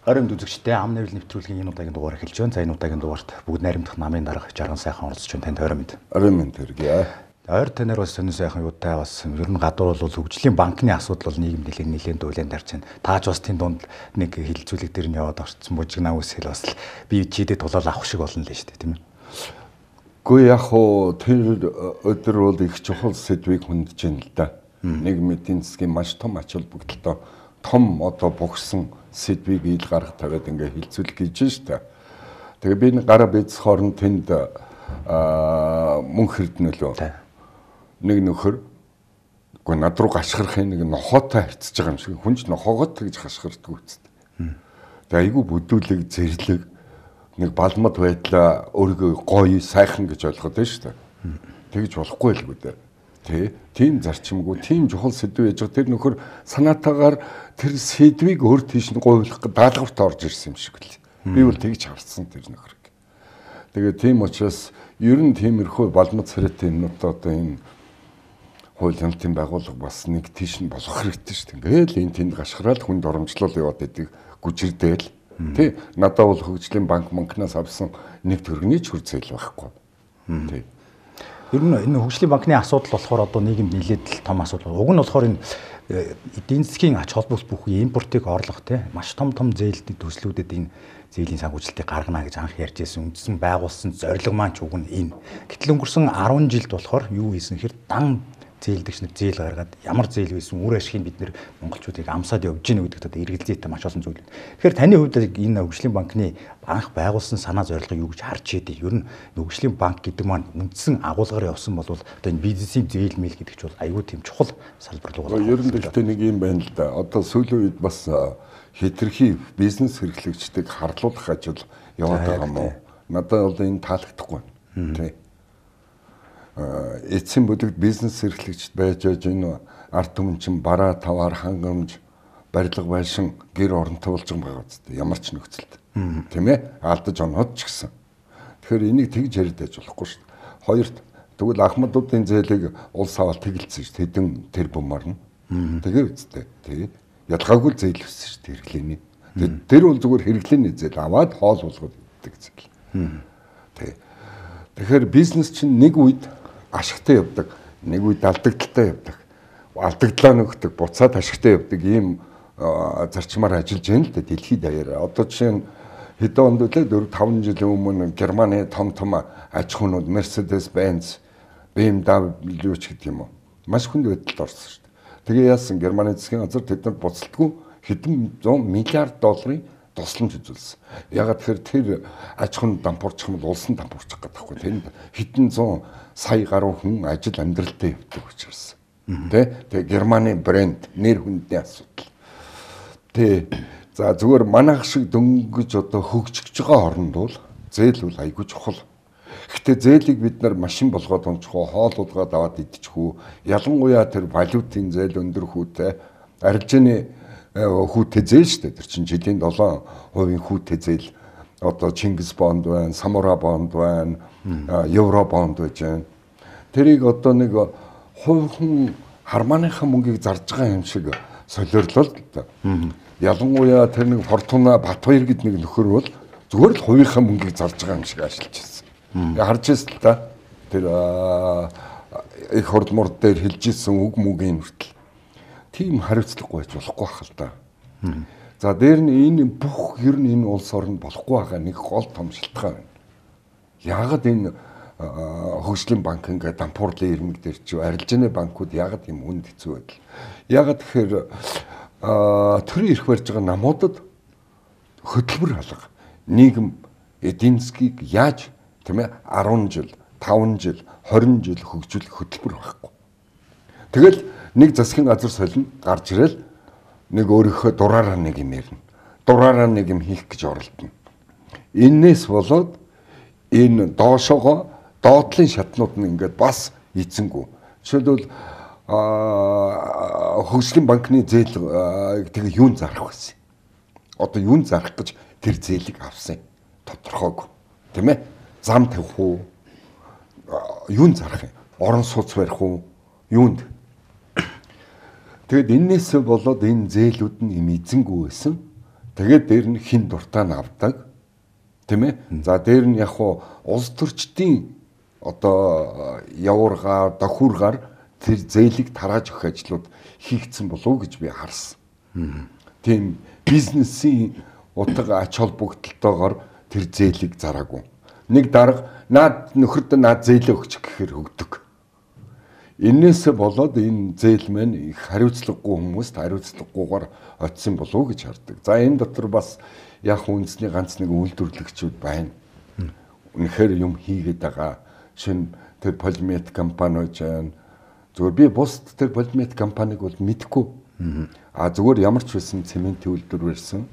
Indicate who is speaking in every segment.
Speaker 1: Оройн үзэгчтэй ам нэврэл нэвтрүүлгийн энэ удаагийн дугаар эхэлж байна. За энэ удаагийн дугаарт бүгд найрамдах намын дарга жарган сайхан оролцож байна. Танд орой мэд.
Speaker 2: Орой мэд төргий.
Speaker 1: Ойр танаар бас сонин сайхан юутай бас ер нь гадуур бол хөгжлийн банкны асуудал бол нийгэм нэлээд дуулан дарж байна. Тааж бас тийм дунд нэг хилцүүлэг дээр нь яваад орцсон бужигнаа үсэл бас би чийдээ тулаал авах шиг болно л шүү дээ, тийм ээ.
Speaker 2: Гэхдээ яг хоо тэр өдөр бол их чухал сэдвийг хүндэж байна л да. Нийгмийн эдийн засгийн маш том ач холбогдолтой том одоо богсон сэдвийг ил гарах тавиад ингээ хилцүүлэг хийж штэ. Тэгээ би энэ гараа бийц хооронд тэнд мөнх хэрднөлөө. Нэг нөхөр үгүй над руу гашгирахын нэг нохоотой харьцаж байгаа юм шиг. Хүн ч нохоогоо тэгж гашгирдаг үсттэй. Тэгээ айгүй бүдүүлэг зэрлэг нэг балмад байдлаа өөрийгөө гоё сайхан гэж ойлгоод байна штэ. Тэгж болохгүй л үү дээ. Тийм зарчимгүй, тийм чухал сэдв яж байгаа. Тэр нөхөр санаатаагаар тэр сэдвийг өөр тийш нь гуйлах даалгаварт орж ирсэн юм шиг л. Би бол тэгж харсан тэр нөхрийг. Тэгээ тийм учраас ер нь тиймэрхүү балмад царайтай юмнууд одоо энэ хууль нэлтийн байгууллага бас нэг тийш нь болох хэрэгтэй шүү дээ. Ингээл энэ тэнд гашхараад хүнд оромжлол яваад идэг гүжирдээл. Тэ надад бол хөгжлийн банкнаас авсан нэг төгрөгийн ч хүрцэл байхгүй. Тэ.
Speaker 1: Ер нь энэ хөгжлийн банкны асуудал болохоор одоо нийгэмд нэлээд том асуудал. Уг нь болохоор энэ эдийн засгийн ач холбогдол бүхий импортыг орлох те маш том зээлтэй төслүүдэд энэ зээлийн санхүүжилтийг гаргана гэж анх ярьж байсан. Үндсэн байгуулсан зорилго маань ч уг нь энэ. Гэтэл өнгөрсөн 10 жилд болохоор юу хийсэн хэр дан зээлдэгч нар зээл гаргаад ямар зээл байсан үр ашгийг бид нэр монголчуудыг амсаад явж гинэ гэдэгт одоо эргэлзээтэй маш олон зүйл. Тэгэхээр таны хувьд энэ хөгжлийн банкны анх байгуулсан санаа зорилго юу гэж харж яадаг? Ер нь хөгжлийн банк гэдэг маань үндсэн агуулгаар явсан бол одоо энэ бизнесийн зээл мэйл гэдэг ч бол аюул тийм чухал салбар руу
Speaker 2: байна. Ер нь гэхдээ нэг юм байна л да. Одоо сүүлийн үед бас хэтэрхий бизнес хэрэглэгчдийг харлуулах ажил яваад байгаа юм уу? Надад бол энэ таалагдахгүй байна. Тэ. Эцсийн бүлэгт бизнес эрхлэгчд байж энэ ард түмэн бараа таваар хангамж барилга байшин гэр оронтой болж байгаа үстэй ямар ч нөхцөлд тийм ээ алдаж оноод ч гэсэн тэгэхээр энийг тэгж яриад болохгүй шүү дээ. Хоёрт тэгвэл ахмадуудын зээлийг улс аваад тэгэлцсэн шүү дээ. Хэдэн тэрбумаар нь тэгээ үстэй тий ялгаагүй зээл өссөн шүү дээ хэрэглээний. Тэр бол зүгээр хэрэглээний зээл аваад хоол болгоод иддэг зээл. Тий. Тэгэхээр бизнес чинь нэг үед ашигтай явдаг, нэг үед алдагдaltaй явдаг. Алдагдлаа нөхдөг, буцаад ашигтай явдаг ийм зарчмаар ажиллаж байна л да дэлхийд даяараа. Одоо жишээ нь хэдэн онд үлээ 4-5 жилийн өмнө Германы том аж ахуйнууд Mercedes-Benz, BMW ч гэдэг юм уу. Маш хүнд байдалд орсон шүү дээ. Тэгээ яасан Германы засгийн газар тэдэнд буцалтгүй хэдэн 100 миллиард долларын тусламж үзүүлсэн. Ягаад тэгэхээр тэр аж ахуйн дампуурчих юм бол улсын дампуурчих гэдэг байхгүй. Тэнд хэдэн 100 сая гаруй хүн ажил амьдралтай явдаг учраас. Тэгээ Германы брэнд нэр хүндний асуудал. За зүгээр манайх шиг дөнгөж одоо хөгжиж байгаа орнд бол зээл бол айгүй чухал. Гэхдээ зээлийг бид нар машин болгоод унчих уу, хоолуудгаад аваад идчих үү, ялангуяа тэр валютын зээл өндөр хүүтэй арилжааны хүүтэй зээл шүү дээ. Тэр чинь жилийн 7% хүүтэй зээл. Одоо Чингис бонд байна, Самура бонд байна, Евро бонд байж байна. Тэрийг одоо нэг хувь хармааныхаа мөнгийг зарж байгаа юм шиг солиорлоо л да. Ялангуяа тэр нэг Фортуна Батбаяр гэдэг нэг нөхөр бол зүгээр л хувийнхаа мөнгийг зарж байгаа юм шиг ажиллаж байсан. Харж ирсэн л да. Тэр их хурдмурд дээр хэлж ирсэн үг мүгийн хүртэл тийм хариуцлагагүй байж болохгүй байх л да. За дээр нь энэ бүх ер нь энэ улс орнд болохгүй байгаа нэг гол том шалтгаан байна. Яагаад энэ хөгжлийн банк ингээд дампуурлын ирмэг дээр чи арилжааны банкуд яагаад юм үнд хэцүү байдал? Яагаад тэгэхээр төрийн ирэх барьж байгаа намуудад хөтөлбөр алга нийгэм эдийн засгийг яаж тийм ээ 10 жил, 5 жил, 20 жил хөгжүүлэх хөтөлбөр байхгүй. Тэгэл нэг засгийн газар солино гарч ирэл нэг өөрийнхөө дураараа нэг юм ярина. Дураараа нэг юм хийх гэж оролдоно. Иннээс болоод энэ доошоогоо доотлын шатнууд нь ингээд бас эзэнгүү. Жишээлбэл хөгжлийн банкны зээл тэгээ юун зарах байсан. Одоо юун зарах гэж тэр зээлийг авсан. Тодорхойг. Тийм ээ? Зам тавих уу? Юун зарах юм? Орон сууц барих уу? Юунд? Тэгэд энээсээ болоод энэ зээлүүд нь им эзэнгүү байсан. Тэгээд дээр нь хин дуртай нь авдаг. Тийм ээ. За дээр нь яг хуу улс төрчдийн одоо явуургаар, дохиургаар тэр зээлийг тарааж өгөх ажлууд хийгдсэн болов гэж би харсан. Тийм бизнесийн утга ач холбогдолтойгоор тэр зээлийг зараагүй. Нэг дарга наад нөхөрд наад зээлээ өгч гэхээр өгдөг. Инээсээ болоод энэ зээл маань их хариуцлагагүй хүмүүст хариуцлагагүйгээр очисон болов гэж хардаг. За энэ дотор бас яг үндэсний ганц нэг үйлдвэрлэгчүүд байна. Үнэхээр юм хийгээд байгаа. Шинэ тэр полимет компаниуд байна. Зүгээр би бусд тэр полимет компаниг бол мэдэхгүй. Зүгээр ямар ч байсан цементийн үйлдвэр барьсан.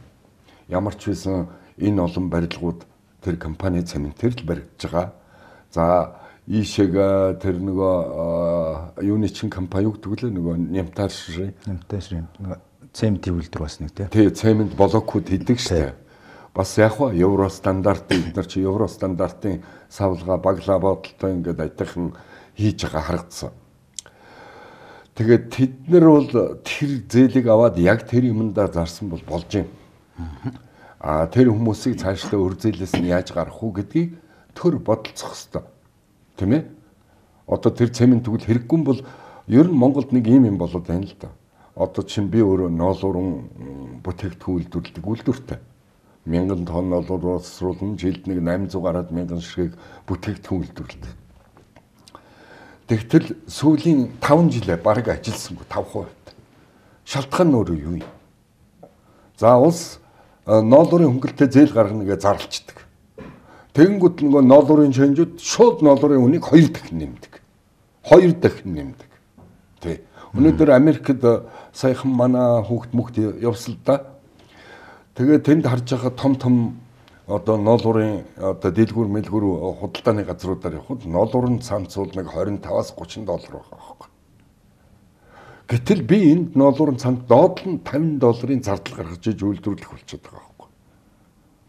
Speaker 2: Ямар ч байсан энэ олон барилгууд тэр компани цементээр л баригдаж байгаа. За ийшээг тэр нөгөө юуны чин компани юу гэдэг лээ нөгөө Нямташрын
Speaker 1: нөгөө цементийн үйлдвэр бас нэг
Speaker 2: тий цемент блокууд хийдэг штэ. Бас яг хаа евро стандартын бид нар чи евро стандартын савлгаа баглаа бодолтой ингээд айтайхан хийж байгаа харагдсан. Тэгээд тэд нар бол тэр зээлийг аваад яг тэр юмдаа зарсан бол болж юм. Тэр хүмүүсийг цаашлаа өр зээлээс нь яаж гарах уу гэдгийг төр бодолцох хэрэгтэй. Тийм ээ? Одоо тэр цемент тэгвэл хэрэггүй бол ер нь Монголд нэг юм болоод байна л да. Одоо чинь би өөрөө ноолуурын бүтээгдэхүүн үйлдвэрлэдэг үйлдвэртэй. 1000 тонн ноолуур уусруулна, жилд нэг 800 гараад 1000 ширхэг бүтээгдэхүүн үйлдвэрлэдэг. Тэгтэл сүүлийн 5 жилээ бараг ажилласангүй 5%. Шалтгаан нь өөрөө юу юм? За улс ноолуурын хөнгөлтэй зээл гаргана гэж зарлцдаг. Тэгэнгүүт нөгөө ноолуурын чанжууд шууд ноолуурын үнийг 2 дахин нэмдэг. 2 дахин нэмдэг. Тэ. Өнөөдөр Америкт саяхан манай хүүхд мөхд явсан л да. Тэгээд тэнд харж байгаа том одоо ноолуурын одоо дэлгүүр мэлгүүр худалдааны газруудаар явхад ноолуурын цамцуул нэг $25-аас $30 байгаа байхгүй. Гэтэл би энд ноолуурын цамц доод нь $50 зардал гаргаж иж үйлдвэрлэх болчиход байгаа байхгүй.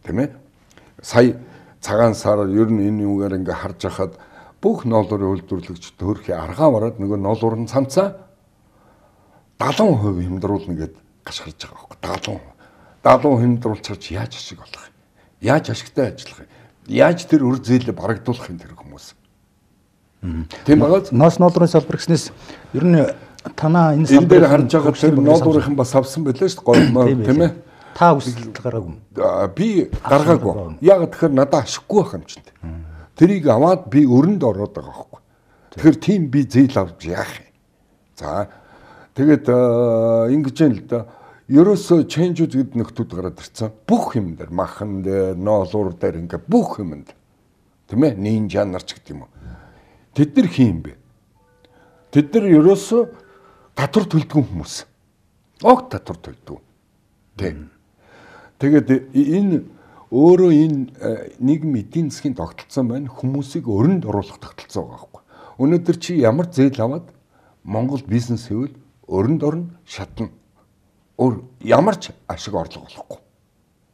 Speaker 2: Тийм ээ? Сая цагаан сар ер нь энэ юугаар ингээ харж хахад бүх ноолуурын үйлдвэрлэгч төрхийн аргаа бараад нөгөө ноолуурын цамцаа 70% хямдруулна гэд гашгарч байгаа байхгүй. 70% хямдруулчихж яаж ашиг болох юм? Яаж ашигтай ажиллах юм? Яаж тэр өр зээлээ барагдуулах юм тэр хүмүүс? Тийм байгаа.
Speaker 1: Ноолуурын салбар гэснээс ер нь танаа энэ
Speaker 2: салбар дээр харж байгаа тэр ноолуурынхан бас авсан байлаа шүү дээ. Тийм ээ.
Speaker 1: Та үсэлт гаргаагүй.
Speaker 2: Би гаргаагүй. Яг тэгэхээр надад ашиггүй байх юм чинь. Тэрийг аваад би өрөнд ороод байгаа байхгүй. Тэгэхээр тийм би зээл авч яах юм? За тэгээд ингэж юм л да. Ерөөсөө ченжүүд гэд нөхдүүд гараад ирсэн. Бүх юм дээр махан дээр, ноолуур дээр ингээ бүх юмд. Тийм ээ? Нинжа нар ч гэдэг юм уу. Тэд нар хин бэ? Тэд нар ерөөсөө татвар төлдөг хүмүүс. Огт татвар төлдөг. Тийм. Тэгээд энэ өөрөө энэ нийгмийн эдийн засгийн тогтолцоон байна. Хүмүүсийг өрөнд оруулах тогтолцоо байгаа байхгүй. Өнөөдөр чи ямар зээл аваад Монгол бизнес хийвэл өрөнд орно, шатна. Ямар ч ашиг орлого болохгүй.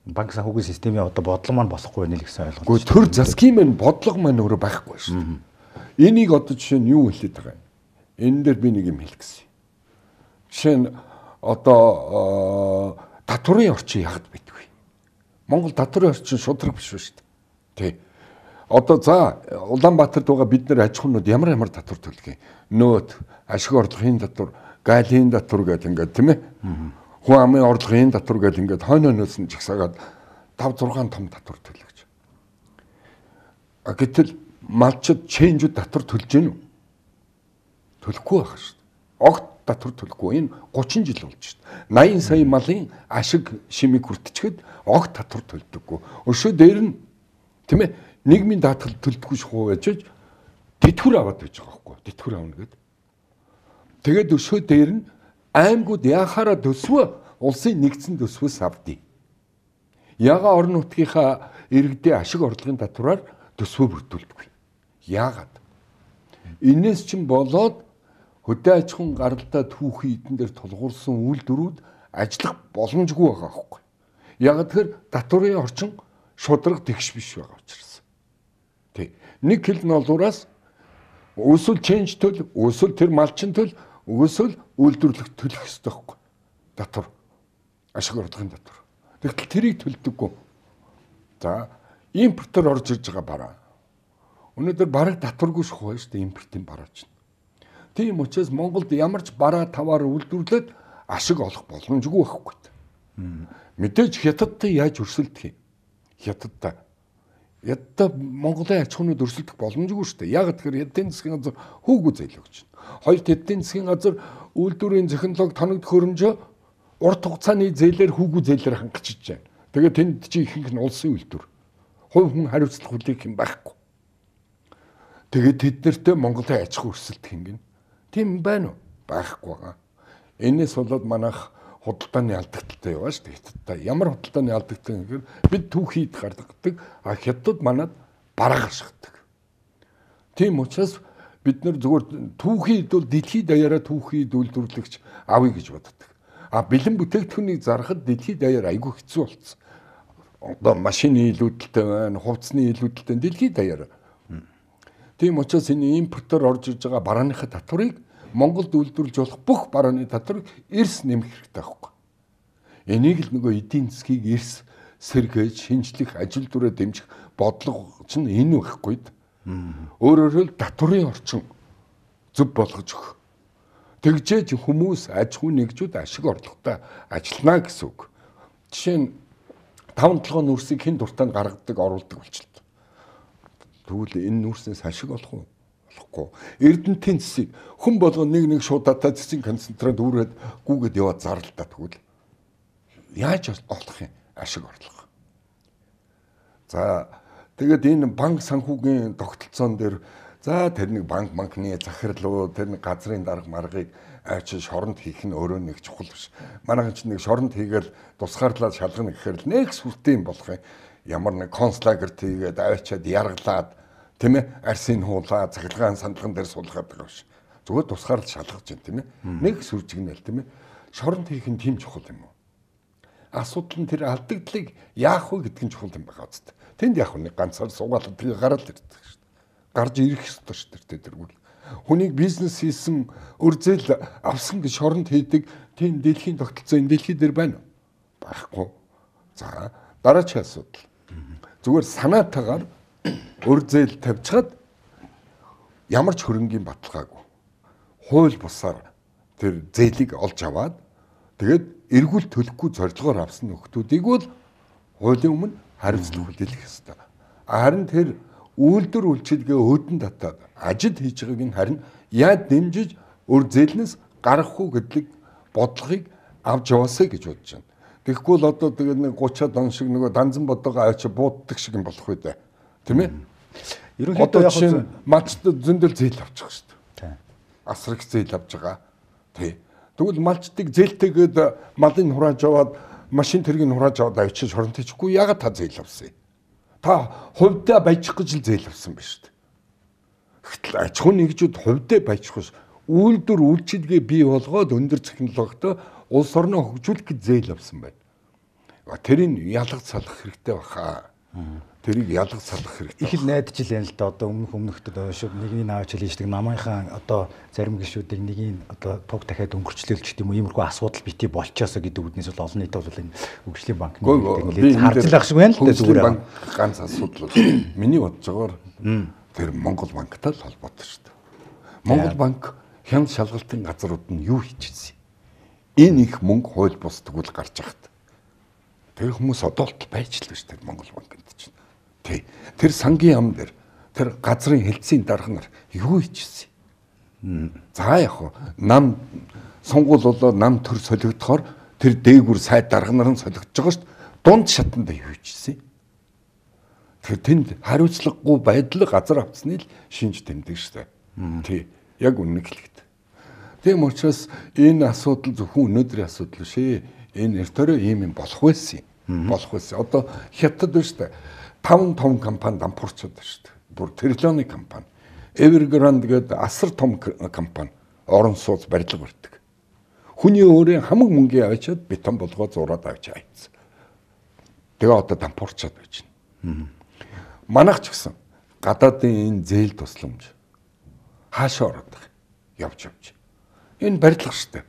Speaker 1: Банк санхүүгийн системийн одоо бодлого маань болохгүй байна л гэсэн ойлголт.
Speaker 2: Гэхдээ төр засгийн маань бодлого маань өөрөө байхгүй шүү дээ. Энийг одоо жишээ нь юу хэлээд байгаа юм? Энэ дээр би нэг юм хэлэх гэсэн. Жишээ нь одоо татварын орчин ягд байдгүй. Монгол татварын орчин шудраг биш шүү дээ. Тий. Одоо за Улаанбаатарт байгаа бид нар аж ахуйнууд ямар татвар төлөх юм? Нөөт, ашиг орлогын татвар, галийн татвар гэдэг ингээд тийм ээ. Хүн амын орлогын татвар гэдэг ингээд хойноос нь жагсаагаад 5-6 том татвар төлөж. Гэтэл малчид ченжүүд татвар төлж гэнэ үү? Төлөхгүй байх шүү дээ. Огт татвар төлөхгүй. Энэ 30 жил болж шүү дээ. 80 сая малын ашиг шимийг хүртчихэд огт татвар төлдөггүй. Өшөө дээр нь тийм ээ нийгмийн даатгал төлдөггүй шахуу байж тэтгэвэр аваад байж байгаа байхгүй. Тэтгэвэр авна гэдэг. Тэгээд өшөө дээр нь аймагуд яхаараа төсвөө улсын нэгдсэн төсвөөс авдээ. Яга орон нутгийнхаа иргэдийн ашиг орлогын татвараар төсвөө бүрдүүлдэг. Яагаад? Инээс чинь болоод хөдөө аж ахуйн гаралтай түүхийн эдэн дээр тулгуурсан үйлдвэрүүд ажиллах боломжгүй байгаа байхгүй. Ягаад тэгэхээр татварын орчин шудраг тэгш биш байгаа учраас. Тэг. Нэг кил ноолуураас өсвөл ченж төл, өсвөл тэр малчин төл, өсвөл үйлдвэрлэх төлөх ёстой байхгүй. Татвар. Ашиг орлогын татвар. Тэгтэл тэрийг төлдөггүй. За импортоор орж ирж байгаа бараа. Өнөөдөр бараг татваргүй шахуу шүү дээ импортын бараа чинь. Тийм учраас Монголд ямар ч бараа таваар үйлдвэрлээд ашиг олох боломжгүй байхгүй. Мэдээж хятадтай яаж өрсөлдөх юм? Хятадтай Монголын аж ахуйнууд өрсөлдөх боломжгүй шүү дээ. Яг тэгэхээр эдийн засгийн газар хүүгүү зээл өгч байна. Хоёрт эдийн засгийн газар үйлдвэрийн технологи тоног төхөөрөмжөө урт хугацааны зээлээр хүүгүү зээлээр хангачиж байна. Тэгээд тэнд чи ихэнх нь улсын үйлдвэр. Хувь хүн хариуцлах хүлээх юм байхгүй. Тэгээд тэд нартэй Монголын аж ахуй өрсөлдөх юм гин. Тийм байна уу? Байхгүй байгаа. Энээс болоод манайх худалдааны алдагдaltaй яваа шүү дээ. Ямар худалдааны алдагдaltaй гэхээр бид түүхийд гаргадаг, хятад манад бараа гашгадаг. Тийм учраас бид нар зүгээр түүхийд бол дэлхийд даяараа түүхийд үйлдвэрлэгч авъя гэж боддог. Бэлэн бүтээгдэхүүнийг зарахад дэлхийд даяар айгүй хэцүү болсон. Одоо машины илүүдэлтэй байна, хувцсны илүүдэлтэй дэлхийд даяар. Тийм учраас энэ импортоор орж иж байгаа барааныхаа татварыг Монголд үйлдвэрлэж болох бүх барааны татварыг эрс нэмэх хэрэгтэй байхгүй. Энийг л нөгөө эдийн засгийг эрс сэргээж, шинжлэх, ажил дүрээ дэмжих бодлого чинь энэ байхгүй. Өөрөөр хэлбэл татварын орчин зөв болгож өгөх. Тэгжээж хүмүүс аж ахуй нэгжүүд ашиг орлоготой ажиллана гэсэн үг. Жишээ нь 5-7 нүрсийг хэн дуртай гаргадаг, оруулдаг болчихлоо. Тэгвэл энэ нүрснээс ашиг олох уу? Болохгүй. Эрдэнтийн цэсийг хүн болгоо нэг шуудаатай цэсийн концентрат үүрээд гүгээд яваад зарлалтаа тэгвэл яаж олох юм? Ашиг орлого. За тэгээд энэ банк санхүүгийн тогтолцоон дээр за тэр нэг банкны захирлуу тэр нэг газрын дарга маргыг авчиж шоронд хийх нь өөрөө нэг чухал биш. Манайхан ч нэг шоронд хийгээл тусгаарлаад шалгана гэхээр л нэг сүртэй юм болох юм. Ямар нэг концлагерт хийгээд авчиад яргалаад тийм ээ арсын хуулаа цахилгаан сандлаган дээр суулгаад байгаа ш. Зүгээр тусгаарлаж шалгаж байна тийм ээ. Нэг сүржигнэл тийм ээ. Шоронд хийх нь тийм чухал юм уу? Асуудал нь тэр алдагдлыг яах вэ гэдг нь чухал юм байгаа үст. Тэнд яг нэг ганцаар суугаалт гараад ирдэг ш. Гарч ирэх ёстой ш тэргүүл. Хүнийг бизнес хийсэн өрзөл авсан гэж шоронд хийдэг тийм дэлхийн тогтолцоо энэ дэлхий дээр байна уу? Байхгүй. За дараагийн асуудал. Зүгээр санаатаагаар өрзөл тавьчихад ямар ч хөрөнгийн баталгаагүй. Хууль бусаар тэр зээлийг олж аваад тэгээд эргүүл төлөхгүй зорилгоор авсан нөхдүүдийг бол хуулийн өмнө хариуцлага хүлээх ёстой. Харин тэр үйлдвэр үйлчилгээ өөдөн татаад ажил хийж байгааг нь харин яад дэмжиж өр зээлнээс гарах уу гэдэг бодлогыг авч яваасаа гэж бодож байна. Тэгэхгүй л одоо тэгээд нэг 30-аад он шиг нөгөө данзан бодоогоо авчи бууддаг шиг юм болох үү дээ. Тийм ээ? Ерөнхийдөө яг малчд зөндөл зээл авчих шүү дээ. Асраг зээл авж байгаа. Тий. Тэгвэл малчдыг зээлтэйгээд малын хурааж аваад машин тэргийг хурааж аваад авчиж шоронд хийчихгүй ягаад та зээл авсан юм? Та хувьдаа баяжих гэж л зээл авсан биш үү? Гэтэл аж ахуй нэгжүүд хувьдаа баяжих биш. Үйлдвэр үйлчилгээ бий болгоод өндөр технологитой улс орноо хөгжүүлэх гэж зээл авсан байна. Тэрийг ялгаж салах хэрэгтэй баха. Тэрийг ялгаж салах хэрэгтэй. Их
Speaker 1: л найдаж л юм л да. Одоо өмнөхдөд шүү нэгний наавч хэлждэг намынхан одоо зарим гишүүдийг нэгийг одоо туг дахиад өнгөрчлөөлч гэдэг юм уу иймэрхүү асуудал бити болчоосоо гэдэг үднээс бол олон нийтэд бол энэ хөгжлийн банкны нэлээд харцлах шиг байна л да зүгээр.
Speaker 2: Банк ганц асуудал. Миний бодож байгаагаар тэр Монгол банктай л холбоотой шүү дээ. Монгол банк хяналт шалгалтын газрууд нь юу хийчихсэн юм? Энэ их мөнгө хууль бус тэгвэл гарч ахт. Тэр хүмүүс одоолт байж л шүү дээ Монгол банкнд чинь. Тий. Тэр сангийн ам дээр тэр газрын хэлтсийн дарга нар юу хийчихсэн юм? За яг хуу нам сонгуул болоо нам төр солигдохоор тэр дээгүр сайд дарга нар нь солигдож байгаа шүү дээ. Дунд шатанд юу хийчихсэн юм? Тэр тэнд хариуцлагагүй байдлыг газар авцсны л шинж тэмдэг шүү дээ. Тий. Яг үнэн хэлэхэд. Тийм учраас энэ асуудал зөвхөн өнөөдрийн асуудал биш ээ. Энэ эртөө ийм юм болох байсан юм. Болох байсан. Одоо хятад биш үү? 5 том компани дампуурчаад байна шүү дээ. Бүр триллионы компани. Evergrande гэдэг асар том компани орон сууц барилга барьдаг. Хүний өөрийн хамаг мөнгө авчиад бетон болгоо зураад авч айцсан. Тэгээ одоо дампуурчаад байж байна. Манайх ч гэсэн гадаадын энэ зээл тусламж хаашаа ороод явж. Энэ барилга шүү дээ.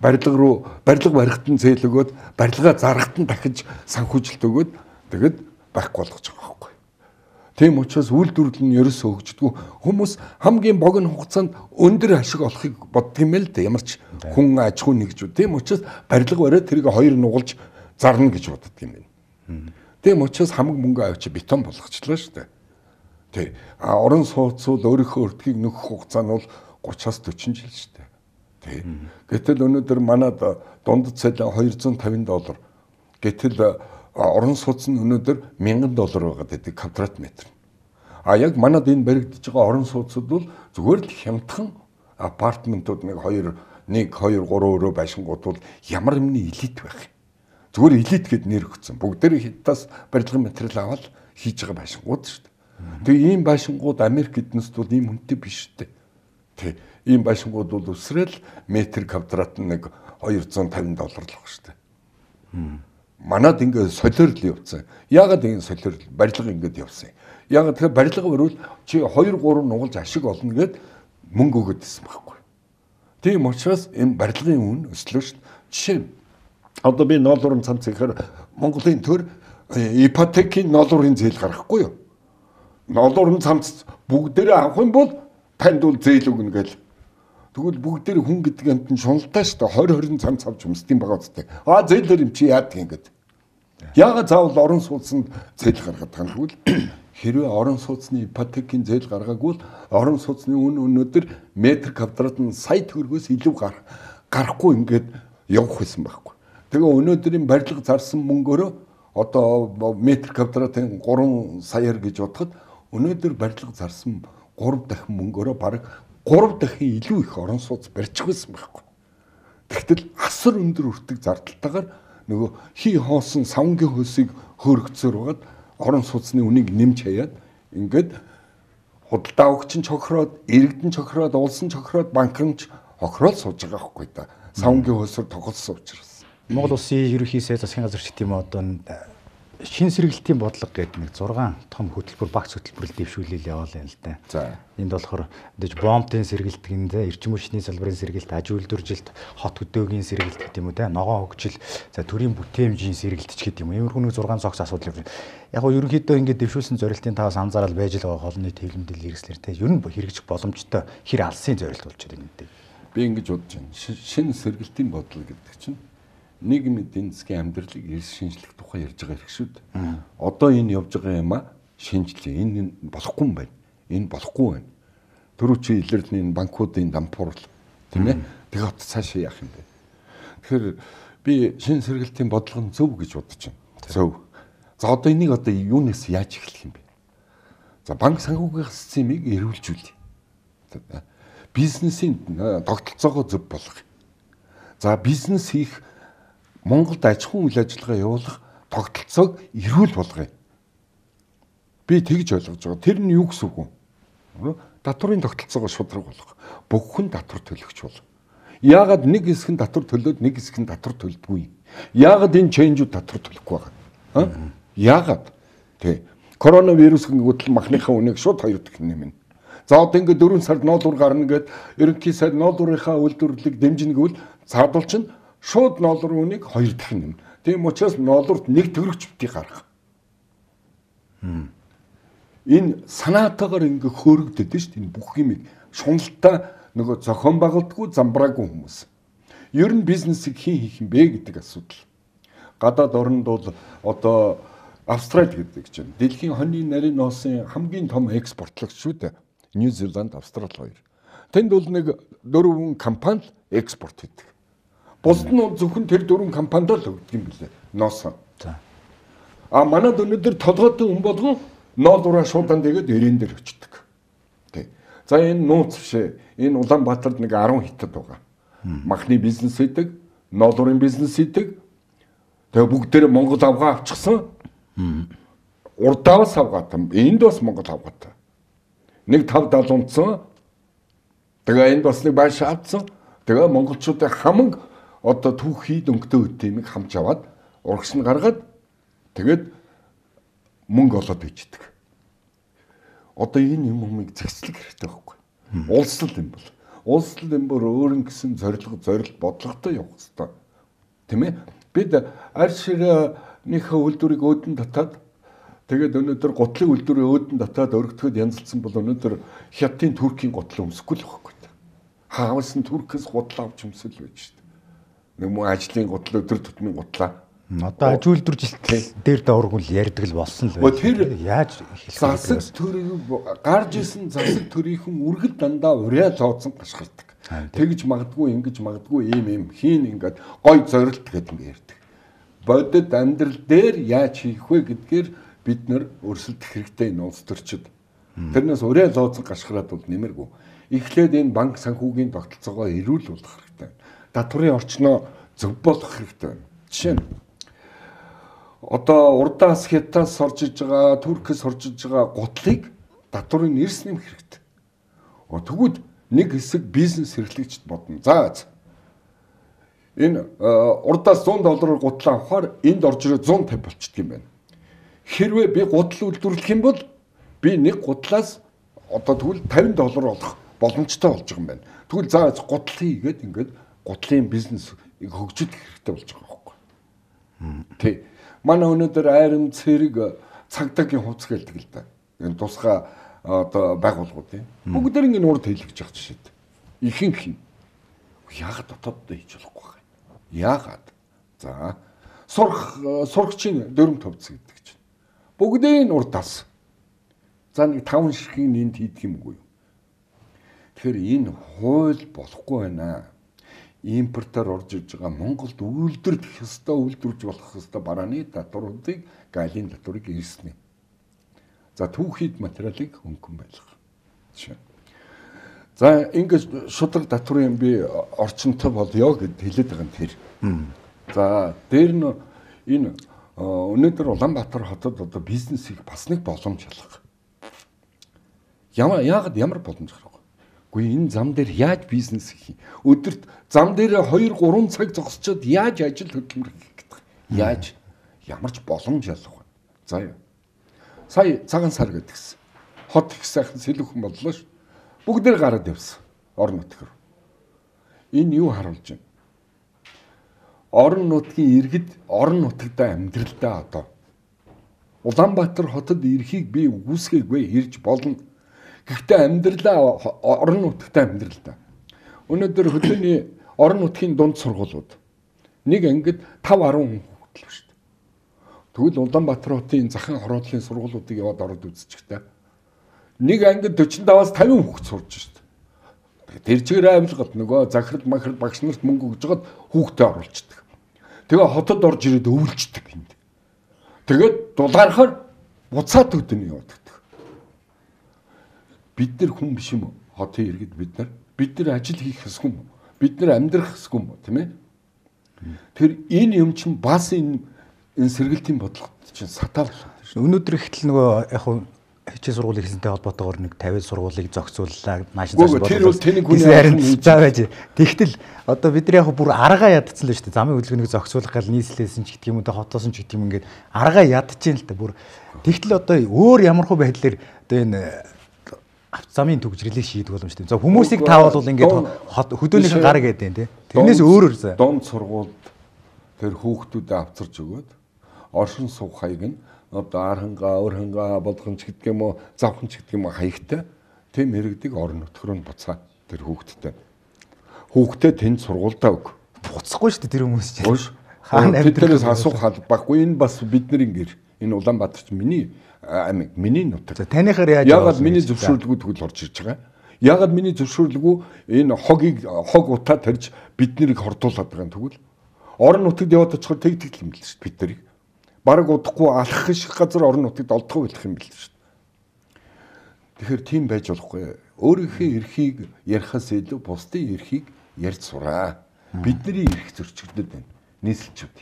Speaker 2: барилга барихт нь зээл өгөөд барилгаа зарахт нь дахиж санхүүжилт өгөөд тэгэд байхгүй болгож байгаа байхгүй. Тийм учраас үйлдвэрлэл нь ерөөсөө хөгждөг. Хүмүүс хамгийн богино хугацаанд өндөр ашиг олохыг боддог юм л да. Ямар ч хүн аж ахуй нэгж. Тийм учраас барилга бариад тэрийг хоёр нугалж зарна гэж боддог юм байна. Тийм учраас хамаг мөнгө авчи бетон болгочлаа шүү дээ. Тий. Орон сууцуул өөрийнхөө өртгийг нөхөх хугацаа нь бол 30-аас 40 жил шүү дээ. Тий. Гэтэл өнөөдөр манад дундад цалин $250. Гэтэл орон сууц нь өнөөдөр $1000 байгаад байдаг квадрат метр. Яг манад энэ баригдаж байгаа орон сууцуд бол зүгээр л хямдхан апартментууд 1 2 3 өрөө байшингууд бол ямар юмны элит байх. Зүгээр элит гэд нэр өгсөн. Бүгдээр хятадаас барилгын материал аваад хийж байгаа байшингууд шүү дээ. Тэгээ ийм байшингууд Америк эднэст бол ийм хүнтэй биш шүү дээ. Тэг. Ийм байшингууд бол өсрэл метр квадрат нь $250 л баг шүү дээ. Манад ингээд солиорл явцсан. Яагаад энэ солиорл барилга ингээд явсан юм? Яагаад тэгэхээр барилга өрөөл чи 2 3 нугалж ашиг олно гэд мөнгө өгöd гэсэн байхгүй. Тийм учраас энэ барилгын үн өслөө шүү дээ. Жишээ нь одоо би ноолуурын цамц ихээр Монголын төр ипотекийн ноолуурын зээл гаргахгүй юу? Ноолуурын цамц бүгдээрээ авах юм бол танд бол зээл өгнө гэл. Тэгвэл бүгдээр хүн гэдэг амт нь шуналтай шүү дээ. 20 цамц авч өмсдөм байгаа үстэй. Зээлэр юм чи яадаг ингээд. Яагаад заавал орон сууцнд зээл гаргаад байгаа юм бол хэрвээ орон сууцны ипотекийн зээл гаргаагүй орон сууцны үн өнөөдөр метр квадрат нь сая төгрөгөөс илүү гарахгүй ингээд явах байсан байхгүй. Тэгээ өнөөдрийн барилга зарсан мөнгөөрөө одоо метр квадратын 3 саяар гэж бодоход өнөөдөр барилга зарсан 3 дахин мөнгөөрөө бараг 3 дахин илүү их орон сууц барьчих байсан байхгүй. Тэгтэл асар өндөр өртөг зардалтайгаар нөгөө хий хоосон савнгийн хөлсийг хөөргөцөөр байгаад орон сууцны үнийг нэмж хаяад ингээд худалдаа өгч нь чохроод, иргэдэн чохроод, улсын чохроод, банкн ч хохроод сууж байгаа байхгүй да. Савнгийн хөлсөөр тоглосон учраас.
Speaker 1: Монгол Улсын ерөнхий сайд засгийн газар ч гэдэм одоо шин сэргэлтийн бодлого гэдэг нэг 6 том хөтөлбөр багц хөтөлбөрөл дэвшүүлэл яваалаа юм л да.
Speaker 2: За.
Speaker 1: Энд болохоор бомбын сэргэлтгиндээ эрчим хүчний салбарын сэргэлт, аж үйлдвэржилт, хот хөдөөгийн сэргэлт гэдэг юм уу те, ногоон хөгжил, за төрийн бүтээмжийн сэргэлт ч гэдэг юм. Иймэрхүү нэг 6 цогц асуудал юм. Яг гоо ерөнхийдөө ингэж дэвшүүлсэн зорилтын таваас анзаарал байж л байгаа холны төвлөмдөл хэрэгслэр те. Ер нь хэрэгжих боломжтой хэр алсын зорилт болж байгаа юм дээ.
Speaker 2: Би ингэж бодож байна. Шин сэргэлтийн бодлого гэдэг чинь нийгмийн эдийн засгийн амьдралыг эрс шинжлэх тухай ярьж байгаа хэрэг шүү дээ. Одоо энэ явж байгаа юм шинжлэх. Энэ болохгүй юм байна. Энэ болохгүй байна. Түрүү чи илэрлний банкуудын дампуурл тийм ээ. Тэгээ хот цаашаа яах юм бэ? Тэгэхээр би шин сэргэлтийн бодлого нь зөв гэж бодож байна. Зөв. За одоо энийг одоо юунаас яаж эхлэх юм бэ? За банк санхүүгийн системийг эрүүлжүүлэх. Бизнесийн тогтолцоогоо зөв болгох. За бизнес хийх Монголд аж ахуйн үйл ажиллагаа явуулах тогтолцоог эрүүл болгоё. Би тэгж ойлгож байгаа. Тэр нь юу гэсэн үг вэ? Татварын тогтолцоогоо шудраг болгох. Бүх хүн татвар төлөгч бол. Яагаад нэг хэсэг нь татвар төлөөд нэг хэсэг нь татвар төлдөггүй? Яагаад энэ ченжүүд татвар төлөхгүй байгаа? Яагаад? Тэ. Коронавирус гингүүтэл махныхаа үнийг шууд 2 дахин нэмнэ. За одоо ингээд 4 сард ноолуур гарна гэд ерөнхий сайд ноолуурынхаа үйлдвэрлэлийг дэмжинэ гэвэл цаадуул чинь шууд ноолуурын үнийг 2 дахин нэмнэ. Тийм учраас ноолуурт 1 төгрөгч битгий гаргах. Энэ санаатаагаар ингээ хөөрөгдөд нь шүү дээ. Энэ бүх юмыг шуналтаа нөгөө зохион байгуулдаггүй замбраагүй хүмүүс. Ер нь бизнесийг хэн хийх юм бэ гэдэг асуудал. Гадаад орнд бол одоо Австрали гэдэг чинь дэлхийн хоньны нарийн ноосын хамгийн том экспортлогч шүү дээ. Нью Зеланд, Австрали хоёр. Тэнд бол нэг 4 компани экспорт хийдэг. Бусд нь зөвхөн тэр 4 компанид л өгдөг юм билээ. Ноосоо.
Speaker 1: За.
Speaker 2: Манад өнөөдөр толгойтой хүн болгон ноолуураа шуудан дэгээд эрээн дээр өчтдөг. Тэ. За энэ нууц бишээ. Энэ Улаанбаатарт нэг 10 хятад байгаа. Махны бизнес хийдэг, ноолуурын бизнес хийдэг. Тэгээ бүгдээрээ Монгол авгаа авчихсан. Урдаас авгаатай. Энд бас Монгол авгаатай. Нэг 5-70 унтсан. Тэгээ энд бас нэг байш авцсан. Тэгээ монголчуудын хамаг одоо түүхий дөнгөтэй үтэмийг хамж аваад урагш нь гаргаад тэгээд мөнгө олоод ичдэг. Одоо энэ юмыг зэгцлэх хэрэгтэй байхгүй. Улслал юм бол. улс төрийн бүр өөрийн гэсэн зорилго бодлоготой явах хэрэгтэй. Тийм ээ? Бид арь ширнийхээ үйлдвэрийг өөдөн татаад тэгээд өнөөдөр гутлын үйлдвэрийн өөдөн татаад өргөтгöd янзлсан бол өнөөдөр Хятадын Туркийн гутал өмсөхгүй л байхгүй. Хаавс нь Туркээс гутал авч өмсөл байж шүү дээ. Нэг мөн ажлын гутал өдөр тутмын гутлаа.
Speaker 1: Одоо аж үйлдвэржилтэл дээр даургуул ярьдаг л болсон л байна.
Speaker 2: Тэр
Speaker 1: яаж
Speaker 2: засаг төрийг гарч исэн засаг төрийнхэн үргэлж дандаа урьа зооцсон гашгардаг. Тэгж магадгүй ингэж магадгүй ийм хийн ингээд гой зорилт гэдэг юм ярьдаг. Бодит амьдрал дээр яаж хийх вэ гэдгээр бид нэр өрсөлдөх хэрэгтэй энэ улс төрчид. Тэрнээс урьа зооцсон гашгараад бол нэмэргүй. Эхлээд энэ банк санхүүгийн тогтолцоогоо эрүүлүүлэх хэрэгтэй. Татварын орчноо зөв болгох хэрэгтэй байна. Жишээ нь одоо урдаас Хятадаас орж иж байгаа, Туркээс орж иж байгаа гутлыг татварын эрс нэмэх хэрэгтэй. Тэгвэл нэг хэсэг бизнес эрхлэгчд бодно. За энэ урдаас $100 гутлаа авахаар энд орж ирээд 150 болчихдөг юм байна. Хэрвээ би гутал үйлдвэрлэх юм бол би нэг гутлаас одоо тэгвэл $50 олох боломжтой болж байгаа юм байна. Тэгвэл за гутал хийгээд ингээд гутлын бизнес хөгжих хэрэгтэй болж байгаа байхгүй. Тий. Манай өнөөдөр айрам цэрэг цагдаагийн хувцас гэлдэг л да. Энэ тусгай одоо байгууллагууд юм. Бүгд ингэ урд хэлж байгаа жишээд. Ихэнх нь яагаад дотооддоо хийж болохгүй вэ? Яагаад? За сурагчийн дөрөв төвцөг гэдэг чинь. Бүгдийн урдаас. За нэг 5 ширхгийн энд хийдэг юмгүй юу? Тэгэхээр энэ хууль болохгүй байна. Импортоор орж иж байгаа Монголд үйлдвэрлэх ёстой, үйлдвэрж болох ёстой барааны татваруудыг галийн татварыг ирснэ. За түүхийд материалыг хөнгөн байлгах. Жишээ. За ингэж шудраг татварын би орчинтой болёо гэд хэлээд байгаа нь тэр. За дээр нь энэ өнөөдөр Улаанбаатар хотод одоо бизнесийг бас нэг боломж ялах. Яагаад ямар боломж гарах вэ? Гэхдээ энэ зам дээр яаж бизнес хийх? Өдөрт зам дээр 2-3 цаг зогсчод яаж ажил хөдөлмөр хийх гэдэг. Яаж ямар ч боломж ялах вэ? За яа. Сая цагаан сар гэдгсэн. Хот их сайхан сэлүүхэн боллоо ш. Бүгдээр гараад явсан. Орон нутгаар. Энэ юу харуулж байна? Орон нутгийн иргэд орон нутагтаа амьдралдаа одоо Улаанбаатар хотод ирэхийг би үгүйсгээгүй ирж болно. Гэхдээ амьдралаа орон нутагтаа амьдралдаа. Өнөөдөр хөдөөний орон нутгийн дунд сургуулиуд нэг ангид 5-10 хүн хөтлөв шүү дээ. Тэгвэл Улаанбаатар хотын захын хороодлын сургуулиудыг яваад ороод үзчихтэй. Нэг ангид 45-аас 50 хүүхэд сурж шүү дээ. Тэр чигээр авилгад нөгөө захирал махрал багш нарт мөнгө өгж жагаад хүүхдээ оруулцдаг. Тэгээ хотод орж ирээд өвлждөг энд. Тэгээд дулгаарахаар буцаад өдөн яваад. Бид нар хүн биш юм уу? Хотын иргэд бид нар ажил хийх хэсэг юм уу? Бид нар амьдрах хэсэг юм уу, тийм ээ? Тэр энэ юм чинь бас энэ сэргэлтийн бодлогот чинь сатаа болоод байна шүү.
Speaker 1: Өнөөдөр ихтэл нөгөө яг хуу хичээл сургууль хийсэнтэй холбоотойгоор нэг 50 сургуулийг зохицууллаа. Наашин зохицуулалт.
Speaker 2: Тэр бол тэний хүний
Speaker 1: харин заа байж. Тэгтэл одоо бид нар яг бүр аргаа ядцсан л шүү дээ. Замын хөдөлгөөнийг зохицуулах гал нийслэлсэн ч гэдэг юм уу, хотоос нь ч гэдэг юм ингээд аргаа ядчихээн л та бүр. Тэгтэл одоо өөр ямархуу байдлаар одоо энэ замын төгжрэлийг шийдэх боломжтой. За хүмүүсийг таавал ингээд хөдөөнийхэн гар гэдэг тийм. Тэрнээс өөрөөр за.
Speaker 2: Донд сургуульд тэр хүүхдүүдэд авчирч өгөөд оршин суух хаяг нь одоо архангаа, өрхангаа, болгонч гэдэг юм уу, завханч гэдэг юм уу хаягтай тийм иргэдэг орон нутгаар нь буцаа тэр хүүхдтэй. Хүүхдээ тэнд сургуульдаа өг.
Speaker 1: Буцахгүй шүү дээ тэр хүмүүс чинь.
Speaker 2: Хаана амьдралаас асуух албагүй. Энэ бас бидний гэр. Энэ Улаанбаатарч миний аймаг, миний нутаг.
Speaker 1: Танихаар яаж
Speaker 2: яагаад миний зөвшөөрлгүй тэгвэл орж ирж байгаа? Яагаад миний зөвшөөрлгүй энэ хог утаа тарьж биднийг хордуулаад байгаа юм тэгвэл орон нутагт яваад очихоор тэгтгэл юм л шүү дээ бид нарыг. Бараг удахгүй алхах шиг газар орон нутагт олдох байх юм бэл шүү дээ. Тэгэхээр тийм байж болохгүй. Өөрийнхөө эрхийг ярихаас илүү бусдын эрхийг ярьж сураа. Бидний эрх зөрчигдөд байна. Нийслэлчүүд.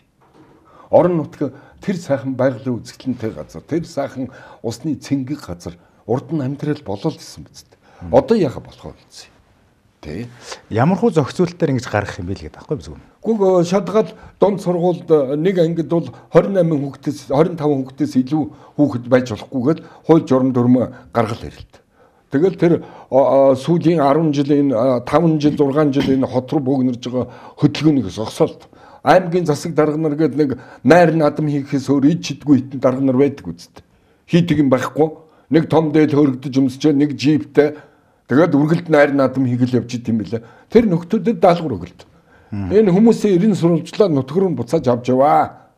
Speaker 2: Орон нутаг тэр сайхан байгалийн үзэсгэлэнтэй газар, тэр сайхан усны цэнгэг газар урд нь амьдрал болол гэсэн биз дээ. Одоо яага болох вэ гэсэн. Тэ.
Speaker 1: Ямархуу зохицуулалтаар ингэж гаргах юм бэ л гэдэг аахгүй биз үү?
Speaker 2: Гүг шадгал донд сургуульд нэг ангид бол 28 хүүхдээс 25 хүүхдээс илүү хүүхэд байж болохгүйгээд хууль журам дүрм гаргал ирэлт. Тэгэл тэр сүүлийн 10 жил энэ 5 жил 6 жил энэ хот руу бөөгнөрж байгаа хөдөлгөөнийг зогсоолт. Аймгийн засаг дарга нар гээд нэг найр надам хийхээс өөр ид чидгүй хитэн дарга нар байдаг үсттэй. Хийдэг юм байхгүй. Нэг том дээл хөргөдөж өмсчээ нэг джиптэй тэгээд үргэлд найр надам хийгэл явж идэм билээ. Тэр нөхдүүдэд даалгавар өгөлт. Энэ хүмүүсийн 90 сурвалжлаа нутгаар нь буцааж авч яваа.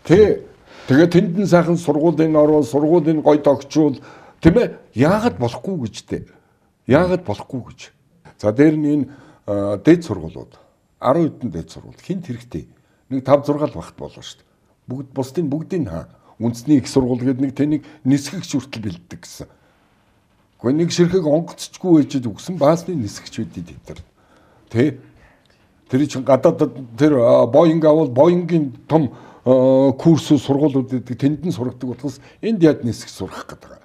Speaker 2: Тэгээд тэндэн сайхан сургуулийн ороо сургуулийн гой тогтчул тийм ээ яагаад болохгүй гэж дээ. Яагаад болохгүй гэж. За дээр нь энэ дээд сургуулиуд 10 хэдэн дээд сургууль хинт хэрэгтэй. Нэг 5 6 л багт болоо шүү дээ. Бүгдийг хаа. Үндэсний их сургууль гэдэг нэг тэнийг нисгэгч хүртэл бэлддэг гэсэн. Гэхдээ нэг ширхэг онгоцчгүй ээжэд өгсөн баасны нисгэгч үдий тэр. Тэр чинь гадаадд тэр Боинг авал Боингийн том курс сургуулиуд гэдэг тэндэн сургадаг болохоос энд яд нисгэж сурах гэдэг.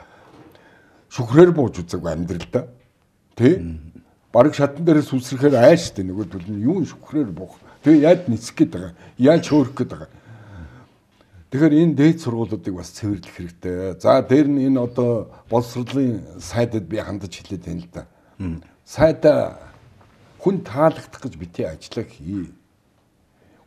Speaker 2: Шүхрээр бууж үзээгүй амьдралдаа. Бараг шатан дээрээс үсрэхээр айштай нөгөөдөл нь юу шүхрээр буух. Тэгээ яд нисэх гээд байгаа. Яаж хөөрөх гээд байгаа. Тэгэхээр энэ дээд сургуулиудыг бас цэвэрлэх хэрэгтэй. За дээр нь энэ одоо боловсролын сайдад би хандаж хэлээд байна л да. Сайдаа хүн таалагдах гэж бити ажиллаа хий.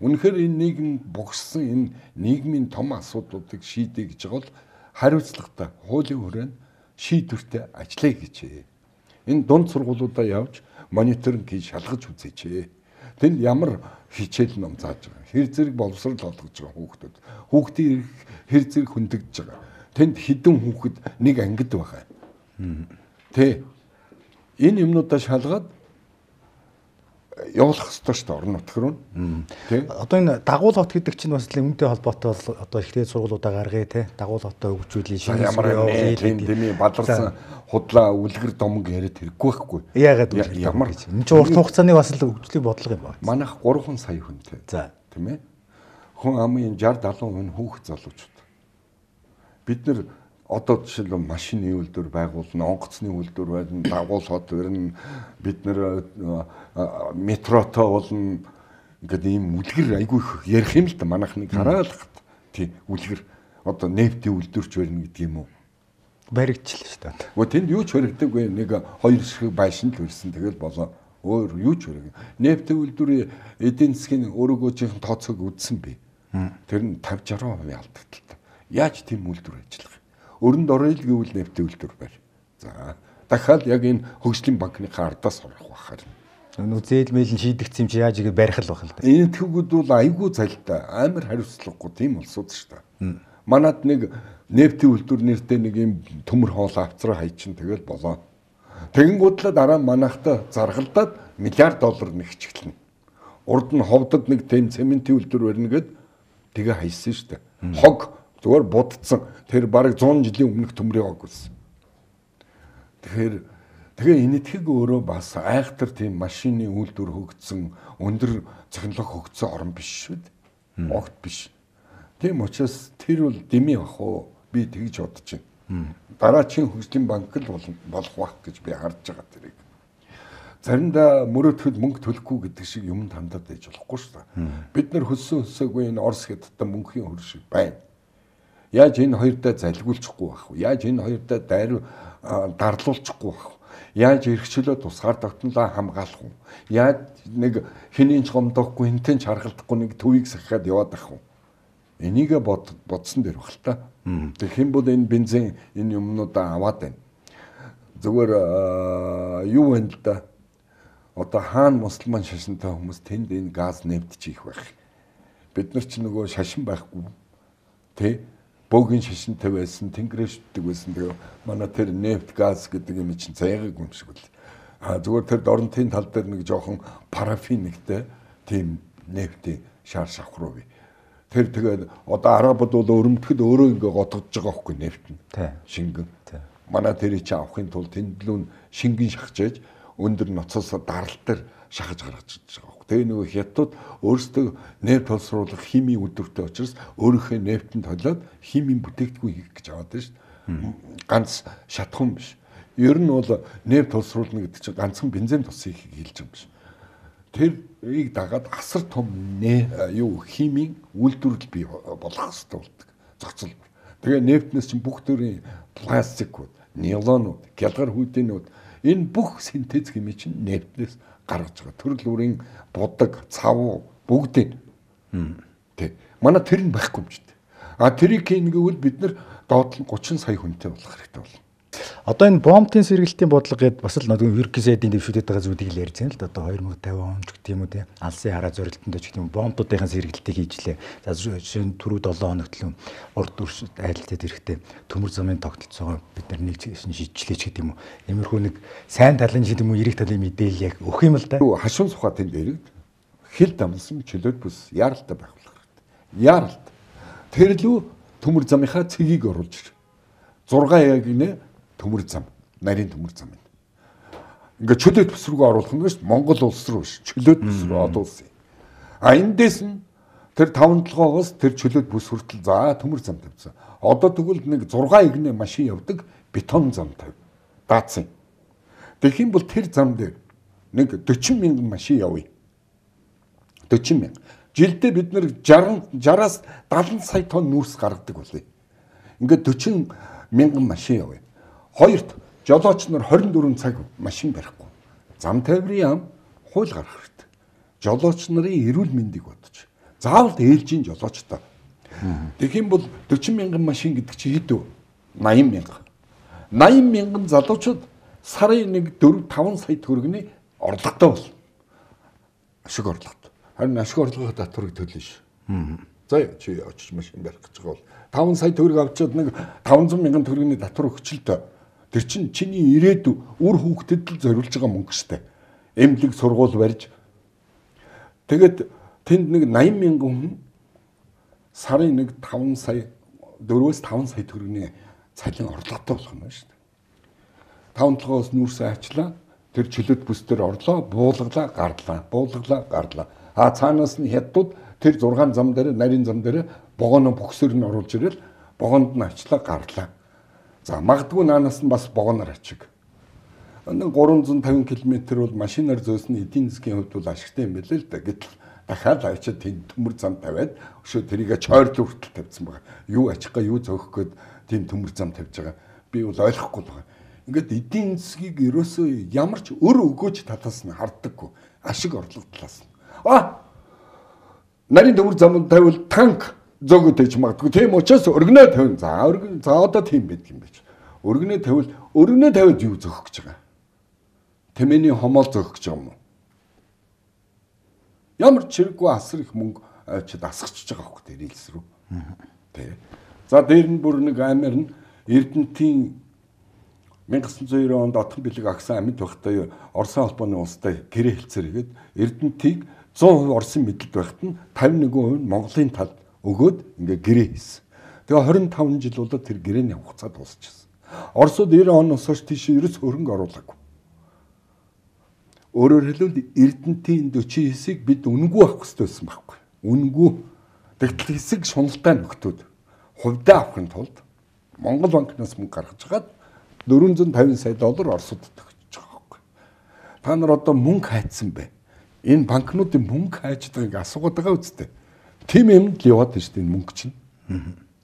Speaker 2: Үнэхээр энэ нийгэм богссон энэ нийгмийн том асуудлуудыг шийдэ гэж байгаа бол хариуцлагатай хуулийн хүрээнд шийдвэртэй ажиллая гэж. Энэ дунд сургуулиудаа явж мониторинг хийж шалгаж үзээч. Тэнд ямар хичээл ном зааж байгаа. Хэр зэрэг боловсрол олгож байгаа хүүхдүүд. Хүүхдийн хэр зэрэг хөндөгдөж байгаа. Тэнд хідэн хүүхэд нэг ангид байгаа. Энэ юмнуудаа шалгаад явуулах ёстой шүү дээ орон нутг руу.
Speaker 1: Одоо энэ дагуул хот гэдэг чинь бас үүнтэй холбоотой бол одоо ихтэй сургуулиудаа гаргая те. Дагуул хотоо хөгжүүлээ шинэ
Speaker 2: дэмий бадарсан худлаа үлгэр домог яриад хэрэггүй байхгүй.
Speaker 1: Яагаад ямар гэж. Энэ чинь урт хугацааны бас л хөгжлийн бодлого юм байна.
Speaker 2: Манайх 3 сая хүнтэй.
Speaker 1: За
Speaker 2: тийм ээ. Хүн амын 60-70% хүүхэд залуучууд. Бид нар одоо жишээлбэл машины үйлдвэр байгуулна, онгоцны үйлдвэр байна, дагуул хот өрн бид нар метрото болно гэдэг ийм үлгэр айгүй их ярих юм л да манайхныг хараалахад тий үлгэр одоо нефтийн үйлдвэрч байна гэдэг юм уу
Speaker 1: баригдчихлаа шүү дээ.
Speaker 2: Гөө тэнд юу ч баригдаг вэ нэг 2 ширхэг байшин л ирсэн тэгэл болоо өөр юу ч бариг. Нефтийн үйлдвэрийн эдийн засгийн өөрөөгөөжийн тооцоог үзсэн би. Тэр нь 50-60% алдагдaltaа. Яаж тийм үйлдвэр ажиллах? Өрөнд орё л гэвэл нефтийн үйлдвэр байр. За дахиад яг энэ хөгжлийн банкны ардаас орох бахаар.
Speaker 1: Нөө зээл мэйлэн шийдэгдсэн юм чи яаж игээд барих л байх л да.
Speaker 2: Энэ төвгүүд бол айгүй залтай амар хариуцлагагүй тийм улсууд шүү дээ. Манад нэг нефтийн үйлдвэр нэртэй нэг юм төмөр хоол авцраа хайчин тэгэл болоо. Тэгэнгүүтлээ дараа манайхтай заргалдаад $1 миллиард нэгчгэлнэ. Урд нь ховдод нэг тэм цементийн үйлдвэр барина гэд тэгээ хайсан шүү дээ. Хог зүгээр будцсан. Тэр бараг 100 жилийн өмнөх төмрийн хог байсан. Тэгээ энэтхэг өөрөө бас айхтар тийм машины үйлдвэр хөгжсөн, өндөр технологи хөгжсөн орн биш шүү дээ. Огт биш. Тийм учраас тэр бол дэмий бах уу? Би тэгж бодож байна. Дараачийн хөгжлийн банк л болох байх гэж би харж байгаа тэрийг. Заримдаа мөрөөдөхөд мөнгө төлөхгүй гэдэг шиг юм тандаад байж болохгүй шүү дээ. Бид нар хөсөөгүй энэ Орос хятадтай мөнхийн хөр шиг байна. Яаж энэ хоёрдаа залгиулчихгүй байх вэ? Яаж энэ хоёрдаа дарлуулчихгүй байх вэ? Яаж эрхчлөө тусгаар тогтнолоо хамгаалах вэ? Яаж нэг хэний ч гомдохгүй хинтэн ч харгалдахгүй нэг төвийг сахиад яваад ах вэ? Энийг бодсон дээр баг л та. Тэг хэн бол энэ бензин энэ юмнуудаа аваад байна. Зүгээр юу вэ л да? Одоо хаана мусульман шашинтай хүмүүс тэнд энэ газ нэмтчих байх. Бид нар ч нөгөө шашин байхгүй. Тэ? Бөөгийн шашинтай байсан, тэнгэршдэг байсан. Тэгээ манай тэр нефт газ гэдэг юм чинь заяагааг юм шиг үл. Зүгээр тэр дорнтын тал дээр нэг жоохон парафин нэгтэй тийм нефтийн шар шавхруу бий. Тэр тэгээд одоо арабууд бол өрөмтгөд өөрөө ингээ готгож байгаа хөөхгүй нефт нь. Шингэн. Манай тэрийг чи авахын тулд тэндлүүн шингэн шахажээж өндөр ноцоос даралт дээр шахаж гаргаж байгаа. Тэгээ нөгөө хятад өөрсдөө нефт боловсруулах химийн үйлдвэртэй учраас өөрийнхөө нефтэнд толиод химийн бүтээгдэхүүн хийх гэж аваад байна шүү дээ. Ганц шатхан биш. Ер нь бол нефт боловсруулна гэдэг чинь ганцхан бензин тусыг хэлж байгаа юм биш. Тэрийг дагаад асар том химийн үйлдвэрлэл бий болох хэрэгтэй болдог. Зохицол. Тэгээ нефтнээс чинь бүх төрлийн пластик, нейлонууд, гялгар хүйдээнүүд энэ бүх синтез хэмээн чинь нефтнээс гаргаж байгаа. Төрөл бүрийн будаг, цав бүгдийг. Тэ. Манай тэр нь байхгүй юм ч дээ. А тэрийг хийнгүүл бид нар доод нь 30 сая хүнтэй болох хэрэгтэй болно.
Speaker 1: Одоо энэ бомбын сэргэлтийн бодлого гэдээ бас л нөгөө ерөнхийдийн дэвшүүлээд байгаа зүйлийг л ярьж байна л да. Одоо 2050 он ч гэх юм уу те. Алсын хараа зорилтонд ч гэх юм бомбуудын сэргэлтийг хийжлээ. За жишээ нь түрүү 7 хоногт л урд дүрс айлтад эрэхтэй төмөр замын тогтолцоогоо бид нар нэг шийдчихлээ ч гэдэг юм уу. Иймэрхүү нэг сайн талын ч гэдэг юм уу эрэг талын мэдээлэл яг өгөх юм л да.
Speaker 2: Хашуун сухаа тэнд эрэгд хил дамлсан чөлөөт бүс яаралтай байх хэрэгтэй. Яаралт. Тэр лүү төмөр замынхаа цэгийг оруулж ир. 6 яг нэ төмөр зам, нарийн төмөр зам юм. Ингээ чөлөөт бүс рүү оруулах нь шүү дээ. Монгол улс руу ш. Чөлөөт бүс рүү одуулсан. А эндээс нь тэр 5-7-оос тэр чөлөөт бүс хүртэл за төмөр зам тавьсан. Одоо тэгвэл нэг 6 игнэ машин явдаг бетон зам тавь. Даацсан. Тэгэх юм бол тэр зам дээр нэг 40 мянган машин явъя. 40 мянга. Жилдээ бид нэр 60-аас 70 сая тонн нүүрс гаргадаг болъё. Ингээд 40 мянган машин явъя. Хоёрт жолооч нар 24 цаг машин барихгүй. Зам тайврын яам хууль гаргах хэрэгтэй. Жолооч нарын эрүүл мэндийг бодож. Заавал ээлжийн жолоочтой. Тэгэх юм бол 40 мянган машин гэдэг чи хэд вэ? 80 мянга. 80 мянган залуучууд сарын нэг 4-5 сая төгрөгийн орлоготой бол. Ашиг орлоготой. Харин ашиг орлогын татварыг төлнө ш. За чи очиж машин барих гэж байгаа бол 5 сая төгрөг авчиад нэг 500 мянган төгрөгийн татвар өгчлөлтөө. Тэр чинь чиний ирээдүй үр хүүхдэд л зориулж байгаа мөнгө штэ. Эмнэлэг сургууль барьж. Тэгээд тэнд нэг 80 мянган хүн сарын нэг 5 сая 4-5 сая төгрөгийн цалин орлоготой болох юм шүү дээ. 5-7-оос нүүрсээ ачлаа. Тэр чөлөөт бүс дээр орлоо, буулгалаа, гарлаа. Буулгалаа, гарлаа. А цаанаас нь хятадууд тэр 6 зам дээр, нарийн зам дээр богоно бөксөр нь оруулж ирэл богонд нь ачлаа, гарлаа. За магадгүй наанаас нь бас богоноор ачиг. Нэг 350 км бол машинаар зөөсөн эдийн засгийн хувьд бол ашигтай юм билээ л да. Гэтэл дахиад авчиад тийм төмөр зам тавиад өшөө тэрийг чойрлоо хүртэл тавьсан байгаа. Юу ачихгаа юу зөөх гээд тийм төмөр зам тавьж байгаа. Би бол ойлгохгүй байгаа. Ингээд эдийн засгийг ерөөсөө ямар ч өр өгөөж талаас нь харддаггүй. Ашиг орлого талаас нь. Нарийн төмөр зам тавил танк зөөгөө тэгж магадгүй. Тийм учраас өргөнөө тавина. За одоо тийм байдаг юм байж. Өргөнөө тавиад юу зөөх гэж байгаа? Тэмээний хомоол зөөх гэж байгаа юм уу? Ямар ч хэрэггүй асар их мөнгө авчид асгачж байгаа хөх тэр рилс рүү. Тэ. За дээр нь бүр нэг амир нь Эрдэнэтийн 1990 онд Отхон бэлэг агсан амьд байхдаа Оросын холбооны улстай гэрээ хэлцээр игээд Эрдэнэтийг 100% Оросын мэдлэг байхад нь 51% Монголын талд өгөөд ингээ гэрээ хийсэн. Тэгээ 25 жил болоод тэр гэрээний хугацаа дуусчихсан. Оросууд 90 оноос хойш тийш ерөөс хөрөнгө оруулаагүй. Өөрөөр хэлбэл Эрдэнэтийн 40 хэсгийг бид үнэгүй авах хэрэгтэй байсан байхгүй. Үнэгүй. Тэгтэл хэсэг шуналтай нөхдүүд хувьдаа авахын тулд Монгол банкнаас мөнгө гаргаж хагаад $450 сая Оросуудад өгч байгаа байхгүй. Та нар одоо мөнгө хайцсан бэ? Энэ банкнуудын мөнгө хайж байгааг асуугаад байгаа үстэй. Тим юм л яваад байна шүү дээ мөнгө чинь.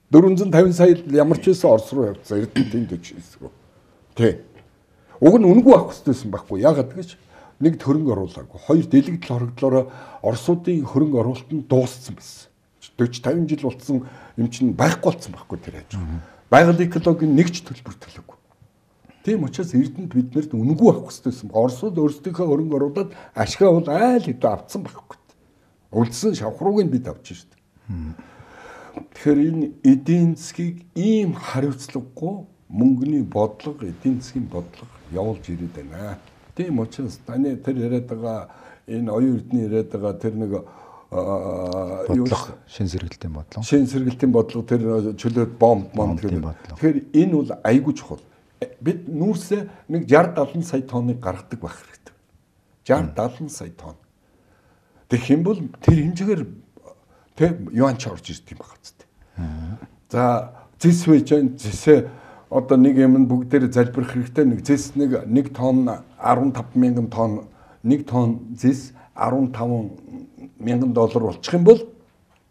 Speaker 2: 450 сая ямар ч байсан Орос руу явцсан Эрдэнэтийн 40 хэсэг рүү. Тэ. Уг нь үнэгүй авах хэрэгтэйсэн байхгүй. Яагаад гэж нэг хөрөнгө оруулаагүй. Хоёр дэлгэдэл хоригдлороо Оросуудын хөрөнгө оруулалт нь дууссан байсан. 40-50 жил болсон юм чинь байхгүй болсон байхгүй тэр хаж. Байгаль экологийн нэг ч төлбөр төлөөгүй. Тийм учраас Эрдэнэт биднэрт үнэгүй авах хэрэгтэйсэн. Оросууд өөрсдийнхөө хөрөнгө оруулаад ашгаа бол айл хэдэ авцсан байхгүй. Үлдсэн шавхрууг нь бид авч шүү дээ. Тэгэхээр энэ эдийн засгийг ийм хариуцлагагүй мөнгөний бодлого, эдийн засгийн бодлого явуулж ирээд байна. Тийм учраас таны тэр яриад байгаа энэ оюун эрдэнэ яриад байгаа тэр нэг
Speaker 1: шин сэргэлтийн бодлого.
Speaker 2: Шин сэргэлтийн бодлого тэр чөлөөт бомб тэгэхээр энэ бол айгүй чухал. Бид нүүрсээ нэг 60-70 сая тонныг гаргадаг байх хэрэгтэй. 60-70 сая тонн. Тэгэх юм бол тэр хэмжээгээр тэг юанч орж ирд юм байна зү. За зэс байж зэсээ одоо нэг юм бүгдээр залбирах хэрэгтэй. Нэг зэс нэг тонн 15 мянган тонн, нэг тонн зэс 15 мянган доллар болчих юм бол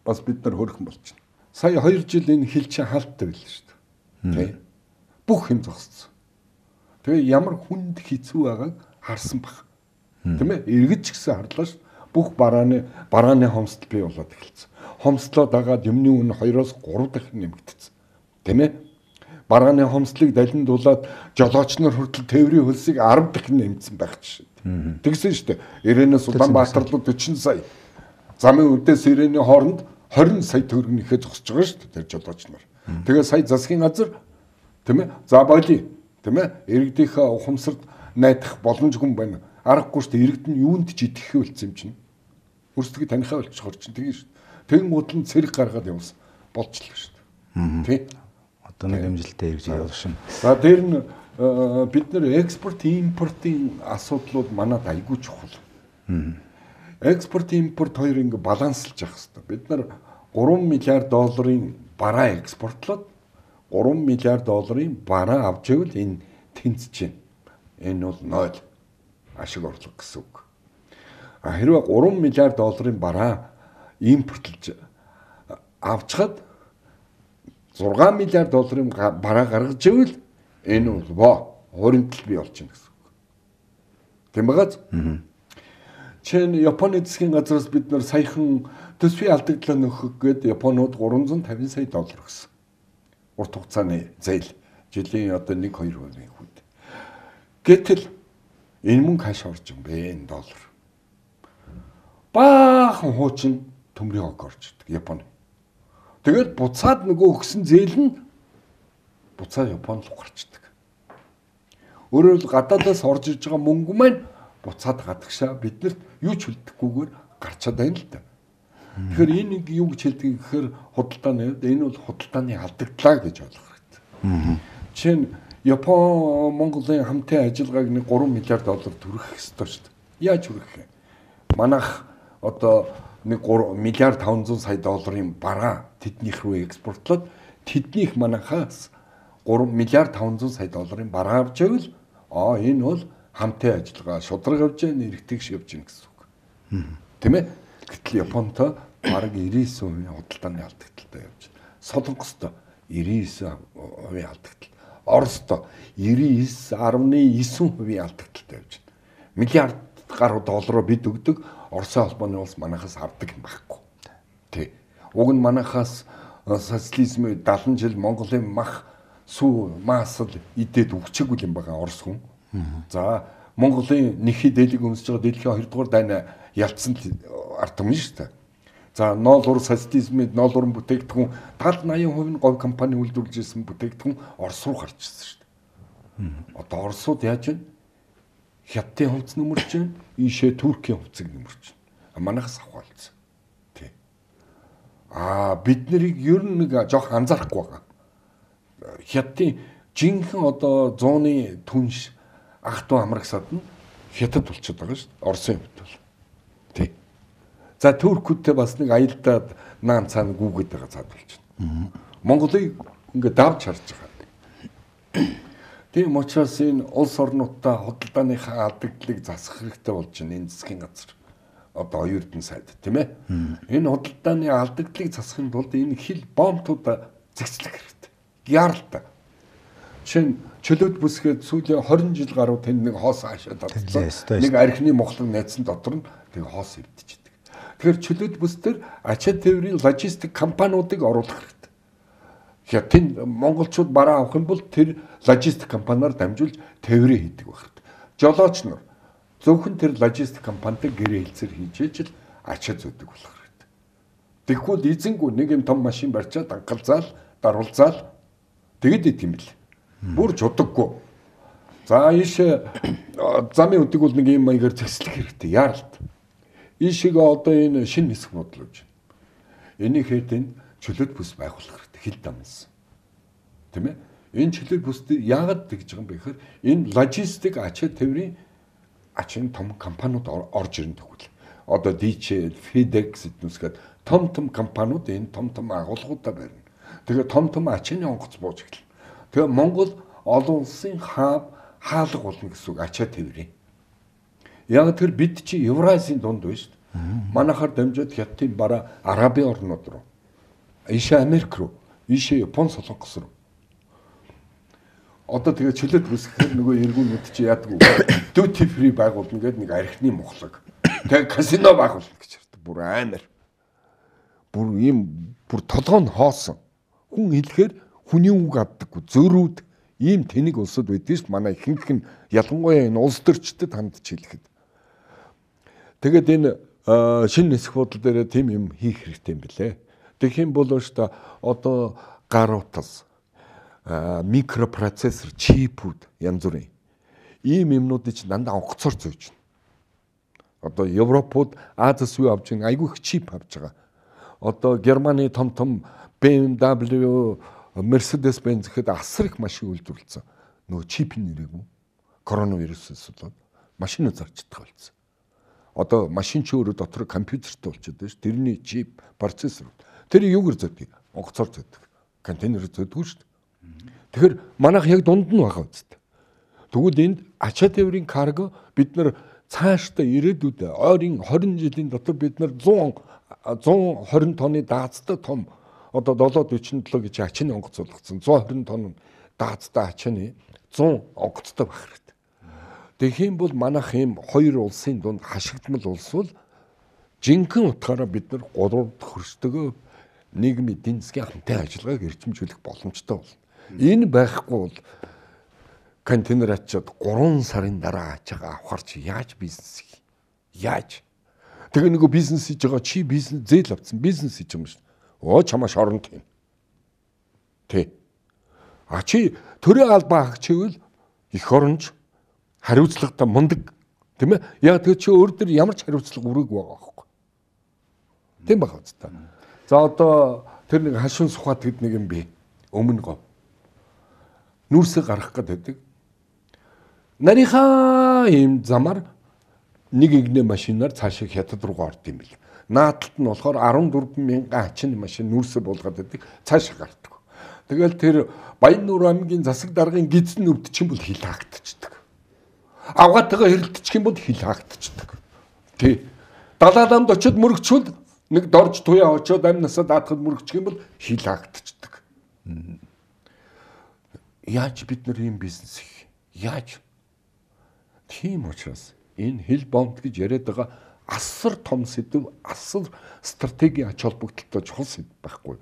Speaker 2: бас бид нар хөрхөн болчихно. Сая 2 жил энэ хил чинь хаалттай байлаа шүү дээ. Тэ. Бүх юм зогссон. Тэгээ ямар хүнд хэцүү байгааг харсан баг. Тийм ээ? Эргэж гисэн харлаа шүү. Бүх барааны хомсдол бий болоод эхэлсэн. Хомслоо дагаад юмны үн 2-3 дахин нэмэгдсэн. Тийм ээ? Барааны хомслыг далиндуулаад жолооч нар хүртэл тээврийн хөлсийг 10 дахин нэмсэн байх жишээ. Тэгсэн шүү дээ. Ирээнээс Улаанбаатар руу 40 сая. Замын үдээс Ирээний хооронд 20 сая төгрөгнийхээ зогсож байгаа шүү дээ тэр жолооч нар. Тэгээ сая засгийн газар тийм ээ? За боли. Тийм ээ? Иргэдийнхээ ухамсарт найдах боломжгүй юм байна. Аргагүй шүү дээ. Иргэд нь юунд ч идэхгүй болсон юм чинь. Өөрсдөө танихаа болчихор чинь тэгээ шүү дээ. Тэгэн гутал нь цэрэг гаргаад явсан болчихлоо шүү дээ. Тий.
Speaker 1: Одоо нэг амжилттай ирж явах шин.
Speaker 2: За дээр нь бид нэр экспорт импортын асуудлууд манад айгүй чухал. Экспорт импорт хоёр ингэ баланслж явах хэрэгтэй. Бид нар 3 миллиард долларын бараа экспортлоод 3 миллиард долларын бараа авч ивэл энэ тэнцэж байна. Энэ бол 0 ашиг орлого гэсэн үг. Хэрвээ 3 миллиард долларын бараа импортлж авчхад 6 миллиард долларын бараа гаргаж ивэл энэ бол хуримтлал бий болж байна гэсэн үг. Тийм байгааз? Чин Японы засгийн газраас бид нар саяхан төсвийн алдагдлаа нөхөх гээд Японууд 350 сая доллар өгсөн. Урт хугацааны зээл жилийн одоо 1-2% хүүд. Гэтэл энэ мөнгө хааш орж юм бэ энэ доллар. Баахан хуучин төмрийн хог орж ирдэг Японы. Тэгээд буцаад нөгөө өгсөн зээл нь буцаад Японд руу гарчдаг. Өөрөөр хэл гадаадаас орж иж байгаа мөнгө маань буцаад гадагшаа биднэрт юу ч үлдэхгүйгээр гарчаад байна л да. Тэгэхээр энэ юу гэж хэлдэг гэхээр худалдааны энэ бол худалдааны алдагдлаа гэж ойлгох хэрэгтэй. Жишээ нь Япон Монголын хамтын ажиллагааг нэг 3 миллиард доллар түргэх ёстой шүү дээ. Яаж түргэх юм? Манайх одоо нэг 3 миллиард 500 сая долларын бараа тэднийх рүү экспортлоод тэднийх манайхаас 3 миллиард 500 сая долларын бараа авч ивэл энэ бол хамтын ажиллагаа шудраг явж байгаа нэрэгтгэж явж байна гэсэн үг. Тийм ээ? Гэтэл Японтой бараг 99% худалдааны алдагталтай явж байна. Солонгостой 99% алдагтал. Оростой 99.9% алдагталтай явж байна. Миллиард гаруй доллараар бид өгдөг, Оросын холбооны улс манайхаас авдаг юм байхгүй. Тий. Уг нь манайхаас социализмын 70 жил Монголын мах сүү маасл идээд өгчээгүй юм байгаа Орос хүн. За Монголын нэхий дээлийг өмсөж байгаа дэлхийн 2 дугаар дайны ялцсан ард түмэн шүү дээ. За ноолур социализмын ноолурын бүтээгдэхүүн 70-80% нь говь компани үйлдвэрлэж ирсэн бүтээгдэхүүн Орос руу гарч ирсэн шүү дээ. Одоо Оросууд яаж вэ? Хятадын хувцас нөмөрч байна, ийшээ Туркийн хувцсыг нөмөрч байна. Манайхаас авахалцсан. Тий. Бид нарыг ер нь нэг жоох анзаарахгүй байгаа. Хятадын жинхэнэ одоо 100-ны түнш ах トゥ амрагсаад нь Хятад болчиход байгаа шүү дээ. Оросын хувьд бол. Тий. За Туркүүдтэй бас нэг аялдаад наан цаана гүгээд байгаа цаад болчихно. Монголыг ингээд давж харж байгаа. Тийм учраас энэ улс орнуудаа худалдааныхаа алдагдлыг засах хэрэгтэй болж байна энэ засгийн газар. Одоо оюутан сайд тийм ээ. Энэ худалдааны алдагдлыг засахын тулд энэ хил бомбтуудаа зэгцлэх хэрэгтэй. Яаралтай. Жишээ нь чөлөөт бүсгээд сүүлийн 20 жил гаруй тэнд нэг хоос хаашаа татсан. Нэг архины мохлог найцсан дотор нь тэг хоос өвдчихэдэг. Тэгэхээр чөлөөт бүс төр ачаа тээврийн логистик компаниудыг оруулах хэрэгтэй. Хятад монголчууд бараа авах юм бол тэр логистик компаниар дамжуулж тээврээ хийдэг байх хэрэгтэй. Жолооч нар зөвхөн тэр логистик компанитай гэрээ хэлцэр хийж ижил ачаа зөөдөг болох хэрэгтэй. Тэгэхгүй эзэнгүй нэг юм том машин барьчаад анхалзаал, даруулзаал тэгэд идэв юм бэл. Бүр чудаггүй. За ийш замын үдэг бол нэг юм маягаар зэслэх хэрэгтэй. Яаралт. Ийшээ одоо энэ шинэ хэсэг бодлооч. Энийг хэд чөлөөт бүс байгуулах хэрэгтэй. Хил дамнсан. Тийм ээ? Энэ чөлөөт бүсд яагаад тэгж байгаа юм бэ гэхээр энэ логистик ачаа тээврийн ачааны том компаниуд орж ирнэ тэгвэл. Одоо DHL, FedEx гэднүсгээд том компаниуд энэ том агуулгуудаа барина. Тэгээ том ачааны онгоц бууж эхэлнэ. Тэгээ Монгол олон улсын хаалга болно гэсэн үг ачаа тээврийн. Яг тэр бид чи Евразийн дунд байна шүү дээ. Манайхаар дамжаад Хятадын бараа Арабын орнууд руу, ийшээ Америк руу, ийшээ Япон, Солонгос руу. Одоо тэгээ чөлөөт үсгэхээр нөгөө эргүүнүүд чи яадаг вэ? Duty free байгуулна гэдэг нэг архины мухлаг. Тэгээ казино байгуулна гэж ярьдаг. Бүр амар. Бүр толгой нь хоосон. Хүн хэлэхээр хүний үг авдаггүй. Зөрүүд ийм тэнэг улсад байдгийг ш манай ихэнх нь ялангуяа энэ улс төрчдөд хандж хэлэхэд. Тэгээд энэ шинэ нисэх бодол дээр тийм юм хийх хэрэгтэй юм билээ. Тэгэх юм бол ш одоо гар утас, микропроцессор, чипүүд янз бүрийн ийм юмнуудыг ч дандаа онгоцоор зөөж байна. Одоо Европууд Азиас юу авч байгаа айгүй их чип авч байгаа. Одоо Германы том BMW, Mercedes-Benz гэхэд асар их машин үйлдвэрлэсэн. Нөгөө чипийн нэрээгүй. Коронавирусээс болоод машин зарчдаг болсон. Одоо машин ч өөрөө дотор компьютертэй болчиход байна ш. Тэрний чип, процессор. Тэр юугаар зөдөг? Онгоцоор зөдөг. Контейнерээр зөдөг ш. Тэгэхээр манайх яг дунд нь байгаа үстэй. Тэгвэл энд ачаа тээврийн карго бид нар цаашдаа ирээдүйд ойрын 20 жилийн дотор бид нар 120 тонны даацтай том одоо 747 гэж ачааны онгоц болгоцсон 120 тонн даацтай ачааны 100 онгоцтой байх хэрэгтэй. Тэгэх юм бол манайх ийм хоёр улсын дунд хашигдмал улс бол жинхэнэ утгаараа бид нар 3 дахь хөрсдөгөө нийгмийн эдийн засгийн хамтын ажиллагааг эрчимжүүлэх боломжтой болно. Энэ байхгүй бол контейнер ачаад 3 сарын дараа ачаага авахар чи яаж бизнес хий? Яаж? Тэгээ нөгөө бизнес хийж байгаа чи бизнес зээл авсан бизнес хийж юм шүү. Чамаа шоронд тийм. Тэ. Чи төрийн албан хаагчвэл эх оронч хариуцлагатай мундаг тийм ээ. Яг тэр чи өөр дөр ямар ч хариуцлага өрөөг байгаа байхгүй. Тийм байх үстэй. За одоо тэр нэг хашин сухат гэд нэг юм бэ. Өмнө гоо. Нүрсээ гаргах гэдэг. Нарийнхаа ийм замаар нэг игнэ машинаар цаашаа хятад руу орд юм бил. Наадталт нь болохоор 14,000 ачааны машин нүрсээ буулгаад байдаг. Цаашаа гардаг. Тэгэл тэр Баяннуур аймгийн засаг даргын гидсэн өвдчих юм бол хил хаагдчихдаг. Авгаатайгаа хэрэлдчих юм бол хил хаагдчихдаг. Тий. Далааланд очиод мөрөгчвөл нэг дорж туяа очиод амнасаа даатахад мөрөгчих юм бол хил хаагдчихдаг. Яаж бид нар ийм бизнес хийх? Яаж? Тийм учраас энэ хил бомб гэж яриад байгаа асар том сэдв, асар стратегийн ач холбогдолтой чухал сэдв байхгүй.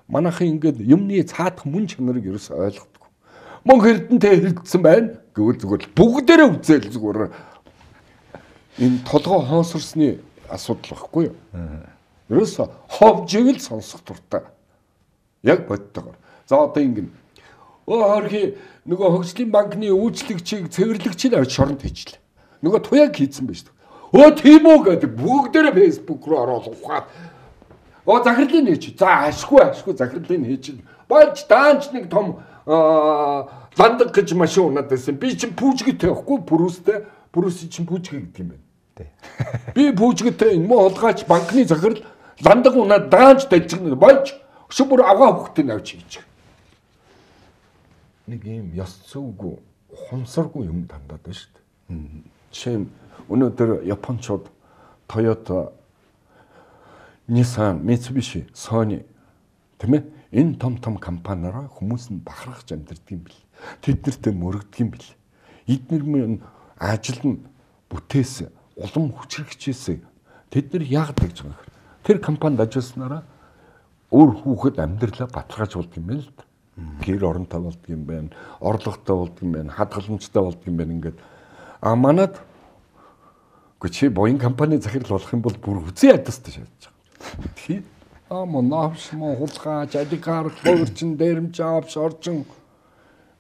Speaker 2: Манайхан ингээд юмны цаадах мөн чанарыг ерөөс ойлгохгүй. Мөн Эрдэнэтэй хэрэлдсэн байна гэвэл зүгээр бүгдээрээ үзэл зүгээр энэ толгой хоосорсны асуудал байхгүй юу? Ерөөс ховжиг л сонсох дуртай. Яг бодтойгоор. За одоо ингэ хөрхи нөгөө хөгжлийн банкны үйлчлэгчийг цэвэрлэгчийг авч шоронд хийчихлээ. Нөгөө туяаг хийцэн байж шүү. Тийм үү гэдэг бүгдээрээ фэйсбુક руу ороод ухаад захирлын нээж. За ашгүй захирлын нээж. Болж даанч нэг том ландаг гэж машин унаад байсан. Би чинь пүүжгэтэй байхгүй бүрүүстэй. Бүрүүс чинь пүүжгэ гэдэг юм байна. Тий. Би пүүжгэтэй энэ мө олгаач банкны захирал ландаг унаад даанч дажигна болж шүбүр авгаа хөхтөнд авч хийж. Нэг юм ёс зүйгүй хумсаргүй юм дандаад байна шүү дээ. Жишээ нь өнөөдөр Япончууд Toyota, Nissan, Mitsubishi, Sony тийм ээ энэ том компаниараа хүмүүс нь бахархаж амьдардаг юм бэл. Тэд нартэй мөрөгдөг юм бэл. Эдгээр ажил нь бүтээс улам хүчрхэгчээсээ тэд нар яагаад гэж байгаа юм. Тэр компанид ажилласнараа өөр хүүхэд амьдралаа баталгааж болдог юм байна л да. Гэр оронтой болдог юм байна, орлоготой болдог юм байна, хадгаламжтай болдог юм байна ингээд. Манад чи боён компани захирал болох юм бол бүр үзээ ядастай шаардж байгаа. Тий. Монавш хулгай, жадикар, хөрчин, дээрэмж авч орчин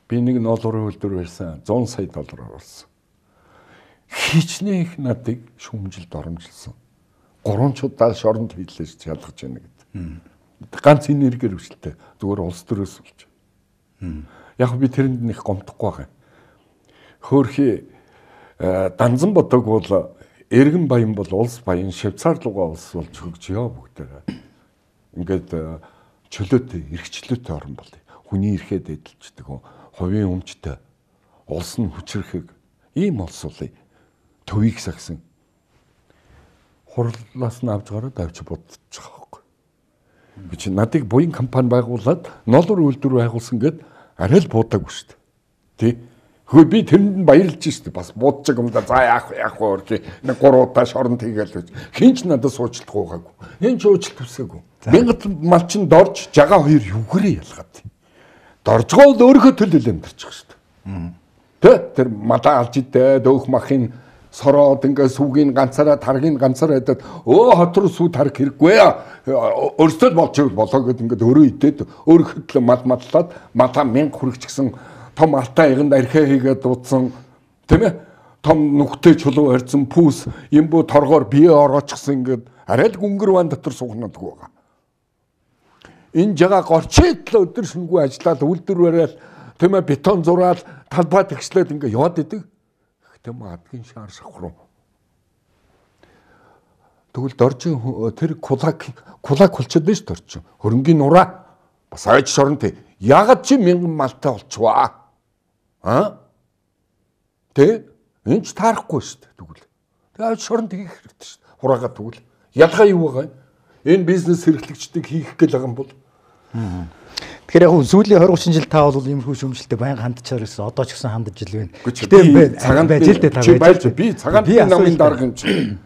Speaker 2: би нэг $100 хөлдөр байсан. $100 сая оруулсан. Хичнээн их надыг шүүмжилд оромжилсан. Гуранчуудаа шоронд хийлээж шалгаж байна гэдэг. Ганц энергээр хүчлээ. Зүгээр улс төрөөс болж. Яг би тэрэнд нэг гомдохгүй байгаа. Хөөхи Данзан бодог бол Эргэн баян бол улс баян, Швейцар руугаа улс болж хөгжиё бүгдээ. Ингээд чөлөөтэй, эрхчлөөтэй орн болъё. Хүний эрхээ дэдэлждэг, хувийн өмчтэй, улс нь хүчрэхэг ийм улс болъё. Төвийг сагсан. Хурлаас нь авч гараад авч бодож байгаа байхгүй. Би чи надыг буян компани байгуулад $1 үйлдвэр байгуулсан гэд арай л буудаагүй шүү дээ. Тий. Хөө би тэрэнд нь баярлж штэ бас буудчих юм да за яах вэ нэг 3 удаа шорон тийгээл гэж хинч надад суучлах уугаагүй хинч уучлалт хүсээгүй мянгат мал чин дорж жагаа хоёр югэрээ ялгаад доржгоо л өөрийнхөө төлөөл амьдарчих штэ тэр малаа алж идэ дөөх махын сороод ингээ сүгийн ганцаараа таргийн ганцаараа идээд хот руу сүү тарх хэрэггүй өөртөө болчихвол болоо гэд ингээ өөрөө идээд өөрийнхөө төлөө маллаад малаа 1000 хүрэх гэсэн том алтай яганд архиа хийгээд дуудсан тийм ээ том нүхтэй чулуу барьсан пүүс имбүү торгоор бие ороочихсан ингээд арай л гүнгэр ван дотор суугнадаг байгаа. Энэ жагаа горчээд л өдөр шөнөгүй ажиллаад үйлдвэр бариад тийм ээ бетон зураад талбай тэгшлээд ингээд яваад идэг. Гэхдээ адгийн шаар шахруу. Тэгвэл доржин тэр кулак болчиход байж дорчин. Хөрөнгийн нураа бас айж шоронтэй. Ягаад чи 1000 малтай болчихваа? Тэ энэ ч таарахгүй шүү дээ тэгвэл. Тэгээд шоронд хийх хэрэгтэй шүү дээ. Хураагаа тэгвэл ялгаа юу байгаа юм? Энэ бизнес хэрэглэгчдийг хийх гэл байгаа юм бол.
Speaker 1: Тэгэхээр яг сүүлийн 20-30 жил та бол иймэрхүү шүүмжлэлтэй байнга хандчаар ирсэн. Одоо ч гэсэн хандж ил байна.
Speaker 2: Гэтэ цагаан байж л дээ та байж. Би цагаан намын дарга юм чи.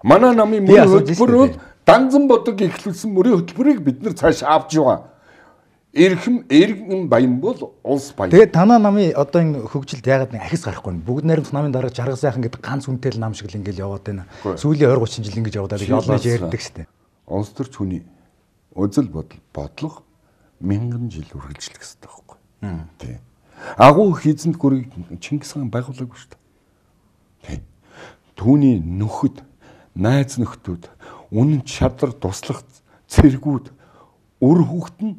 Speaker 2: Манай намын мөрийн хөтөлбөр данзан бодог ихлүүлсэн мөрийн хөтөлбөрийг бид нар цааш авч яваа. Эргэн баян бол улс баян.
Speaker 1: Тэгээд танаа намын одоо энэ хөгжилд ягаад нэг ахис гарахгүй нь бүгд найрамд намын дараа жаргал сайхан гэдэг ганц үнэтэй нам шиг л ингээл яваад байна. Сүүлийн 20-30 жил ингэж яваад байгаа ялгаж ярьдаг штэ.
Speaker 2: Улс төрч хүний үзэл бодлого 1000 жил үргэлжлэх хэрэгтэй байхгүй. Тий. Агуу хийзэнд гүрийг Чингис хаан байгуулаагүй штэ. Тий. Түүний нөхөд, найз нөхдүүд, үнэн чадвар туслах цэргүүд, үр хүүхэд нь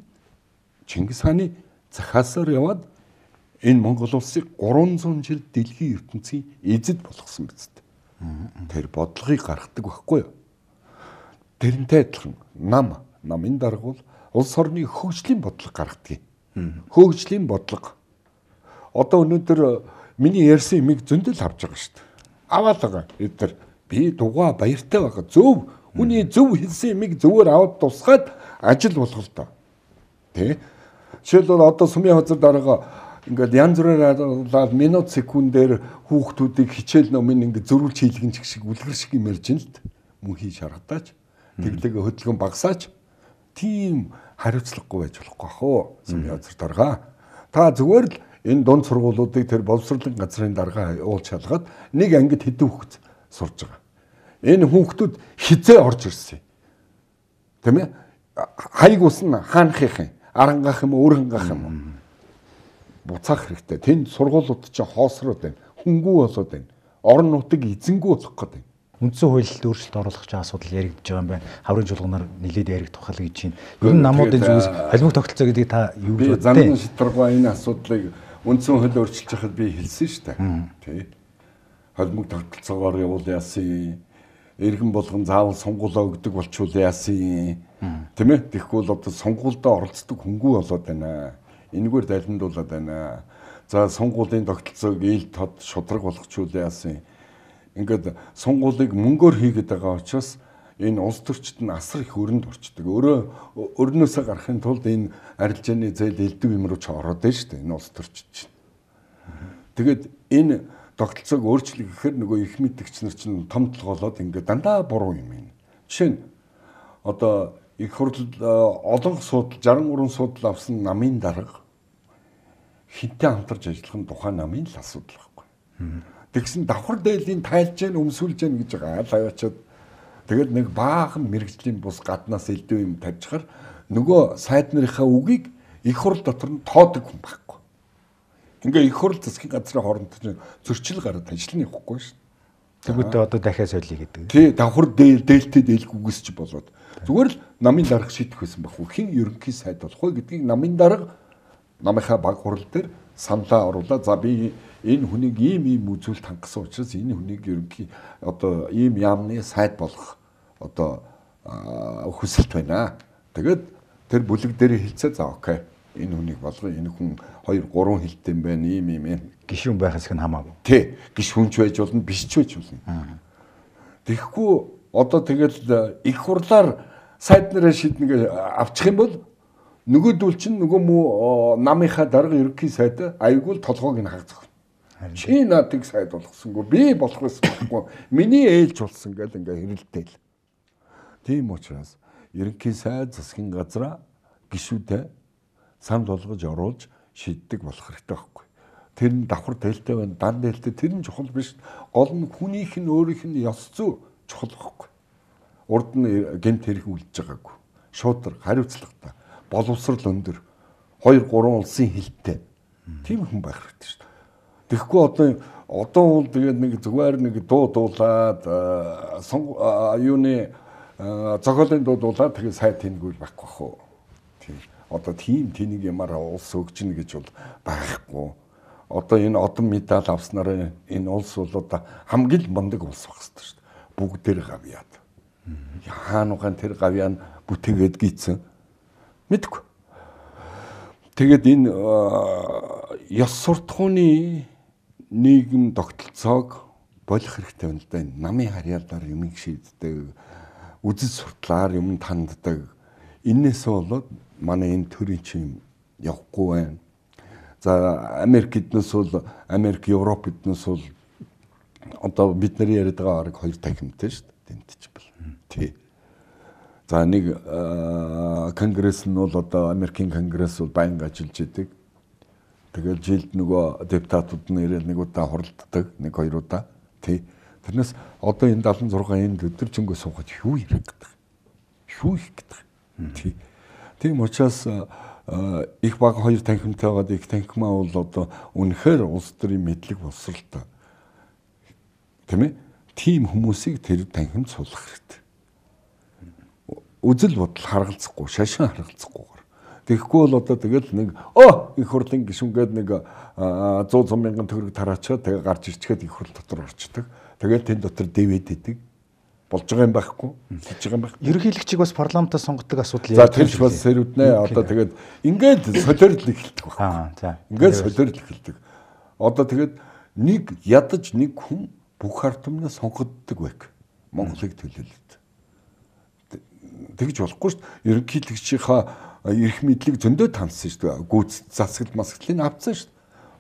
Speaker 2: Чингис хааны захаасаар яваад энэ Монгол улсыг 300 жил дэлхийн ертөнцийн эзэд болгосон биз дээ. Тэр бодлогыг гаргадаг байхгүй юу? Тэрнтэй адилхан намын дарга бол улс орны хөгжлийн бодлого гаргадаг. Хөгжлийн бодлого. Одоо өнөөдөр миний ярьсан юмыг зөндөл авч байгаа шүү дээ. Аваад байгаа. Эдгээр би дугаа баяртай байгаа. Зөв хүний зөв хэлсэн юмыг зөвөр аваад тусгаад ажил болгол тоо. Тэ? Жишээлбэл одоо сумын хазар дарга ингээд янз бүрээр минут секундээр хүүхдүүдийг хичээл номын ингээд зөрүүлж хийлгэн шиг үлгэр шиг юм ярьж ин л мөн хийж харагдаач. Тэглэгээ хөдөлгөөн багасаач. Тийм хариуцлагагүй байж болохгүй хөө сумын хазар дарга. Та зүгээр л энэ дунд сургуулиудыг тэр боловсролын газрын дарга уулж шалгаад нэг ангид хэдэн хүүхэд сурж байгаа. Энэ хүүхдүүд хизээ орж ирсэн. Тэ мэ? Хайг усна хаанхих юм. Арангах юм өөрөнгөх юм. Буцаах хэрэгтэй. Тэнд сургуулиуд чинь хоосроод байна. Хөнгүү болоод байна. Орон нутаг эзэнгүү болох гэдэг.
Speaker 1: Үндсэн хуульд өөрчлөлт оруулах чинь асуудал яригдж байгаа юм байна. Хаврын чуулганаар нэлээд яригдах тухай гэж байна. Ер нь намуудын зүгээс холимог тогтолцоо гэдгийг та юу гэж боддог вэ?
Speaker 2: Замын шийдвэргүй энэ асуудлыг үндсэн хууль өөрчилж байхад би хэлсэн шүү дээ. Тий. Холимог тогтолцоогоор явуул яасан. Иргэн болгон заавал сонгуулаа өгдөг болчвол яасан. Тийм ээ. Тэгэхгүй бол одоо сонгуульдаа оролцдог хөнгүү болоод байна. Энэгээр далиндуулаад байна. За сонгуулийн тогтолцоог ил тод шудраг болгочвол яасан. Ингээд сонгуулийг мөнгөөр хийгээд байгаа учраас энэ улс төрчид нь асар их өрөнд орчдөг. Өрнөөсөө гарахын тулд энэ арилжааны зээл элдв юм руу ч ороод байна шүү дээ. Энэ улс төрчид чинь. Тэгээд энэ тогтолцоог өөрчлөх гэхээр нөгөө их мэдгч нар чинь том толгоолоод ингээд дандаа буруу юм байна. Жишээ нь одоо их хурл олон судал 63 судал авсан намын дарга хинтээ хамтарч ажиллах нь тухайн намын л асуудал байхгүй. Тэгсэн давхар дээлийн тайлж гэн өмсүүлж гэн гэж байгаа лавчаад тэгээд нэг баахан мэрэгжлийн бус гаднаас элдв юм тавьчихаар нөгөө сайд нарынхаа үгийг их хурл дотор нь тоодог хүн байхгүй. Ингээ их хурл засгийн газрын хооронд зөрчил гараад ажил нь явахгүй шүү.
Speaker 1: Тэгвэл одоо дахиад солиё гэдэг.
Speaker 2: Тий, давхар дээлтэй дээлгүйгээс ч болоод зүгээр л намын дарга шийдэх байсан байхгүй. Хэн ерөнхий сайд болох вэ гэдгийг намын дарга намынхаа баг хурал дээр саналаа оруулаад за би энэ хүнийг ийм үзүүлэлт хангасан учраас энэ хүнийг ерөнхий одоо ийм яамны сайд болох одоо хүсэлт байна. Тэгээд тэр бүлэг дээр хэлцээ за окей. Энэ хүнийг болгоо энэ хүн 2 3 хэлтэй юм байна ийм
Speaker 1: гишүүн байхаас их хамаагүй.
Speaker 2: Тий, гишүүнч байж болно, биш ч байж болно. Тэгэхгүй одоо тэгэл их хурлаар сайд нараа шийднэ гэж авчих юм бол Нөгөөдөл чинь нөгөө муу намынхаа дарга ерөнхий сайд айгуул толгойг нь хагацсан. Чи надыг сайд болгосонгүй би болох байсан байхгүй. Миний ээлж болсон гэл ингээ хэрэлдээл. Тийм учраас ерөнхий сайд засгийн газраа гишүүдэд санд болгож оруулж шийддэг болох хэрэгтэй байхгүй. Тэр нь давхар дээлтэй байна, дан дээлтэй тэр нь чухал биш. Гол нь хүнийх нь өөрийнх нь ёс зүй чухал байхгүй. Урд нь гэмт хэрэг үлдэж байгаагүй. Шуудар, хариуцлагатай, боловсрал өндөр, 2 3 улсын хилтэй. Тийм хүн байх хэрэгтэй шүү дээ. Тэгэхгүй одоо бол тэгээд нэг зүгээр нэг дуу дуулаад юуны зохиолын дуу дуулаад тэгээд сайд тэнэгүүл байхгүй хөө. Тийм. Одоо тийм тэнийг ямаар улс өгчнө гэж бол байхгүй. Одоо энэ одон медаль авснараа энэ улс бол одоо хамгийн мундаг улс байх хэрэгтэй шүү дээ. Бүгдээр гавьяад. Хаанугаан тэр гавьяан бүтээгээд гийцэн. Мэдгүй. Тэгээд энэ ёс суртахууны нийгэм тогтолцоог болох хэрэгтэй байна л да. Намын харьяалаар юм шийддэг, үзэл суртлаар юм танддаг. Иннээс болоод манай энэ төрийн чинь явахгүй байна. За Америк эднээс бол Америк, Европ эднээс бол одоо бидний яриад байгаа арга 2 танхимтай шүү дээ. Тэмтэж бэл. Тий. За нэг конгресс нь бол одоо Америкийн конгресс бол байнга ажиллаж идэг. Тэгээд жилд нөгөө депутатууд нь ирээд нэг удаа хуралддаг, 1 2 удаа. Тий. Тэрнээс одоо энэ 76 энэ өдөржингөө суугаад юу ярих гэдэг. Юу их гэдэг. Тий. Тийм учраас их баг 2 танхимтай байгаад их танхимаа бол одоо үнэхээр улс төрийн мэдлэг боловсралтай. Тийм ээ? Тийм хүмүүсийг тэр танхимд суулгах хэрэгтэй. Үзэл бодол харгалзахгүй, шашин харгалзахгүйгээр. Тэгэхгүй бол одоо тэгэл нэг их хурлын гишүүнгээд нэг 100 мянган төгрөг тараачаад тэгээ гарч ирчгээд их хурл дотор орчдөг. Тэгээд тэн дотор дэвэд идэг. Болж байгаа юм байхгүй, хийж байгаа юм байхгүй.
Speaker 1: Ерөнхийлөгчийг бас парламентаас сонгодог асуудал
Speaker 2: За тэр ч бас сэрүүднэ. Одоо тэгээд ингээд солиорлол эхэлдэг байна.
Speaker 1: За.
Speaker 2: Ингээд солиорлол эхэлдэг. Одоо тэгээд нэг ядаж нэг хүн бүх ард түмнээ сонгогддог байх. Монголыг төлөөлөд. Тэгж болохгүй шүү дээ. Ерөнхийлөгчийнхаа эрх мэдлийг зөндөө таньсан шүү дээ. Гүйц засагт масгалыг авцсан шүү дээ.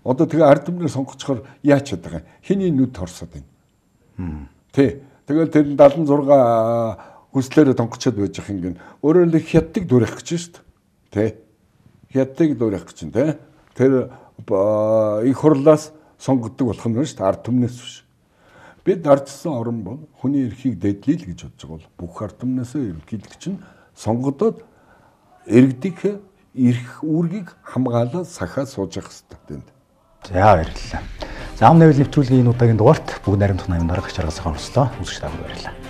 Speaker 2: Одоо тэгээ ард түмнээ сонгоцохоор яач чаддаг юм. Хэний нүд торсоод байна. Тэ. Тэгэл тэр 76 хүслээрээ тонгочод байж их юм. Өөрөөр хэлбэл хятадыг дуурайх гэж шүү дээ. Тэ. Хятадыг дуурайх гэж тэ. Тэр их хурлаас сонгогддог болох нь шүү дээ. Ард түмнээс биш. Бид ардсан орн бол хүний эрхийг дэдлэе л гэж бодож байгаа бол бүх ард түмнээсээ ерөнхийлөгч нь сонгогдоод иргэдийн эрх үүргийг хамгаалаад сахаа сууж явах хэрэгтэй тэнд.
Speaker 1: За баярлалаа. За ам нэвэл нэвтрүүлгийн энэ удаагийн дугаарт бүгд найрамдах 80 дарга чаргал сайхан өстөө үзэгч та бүхэн баярлалаа.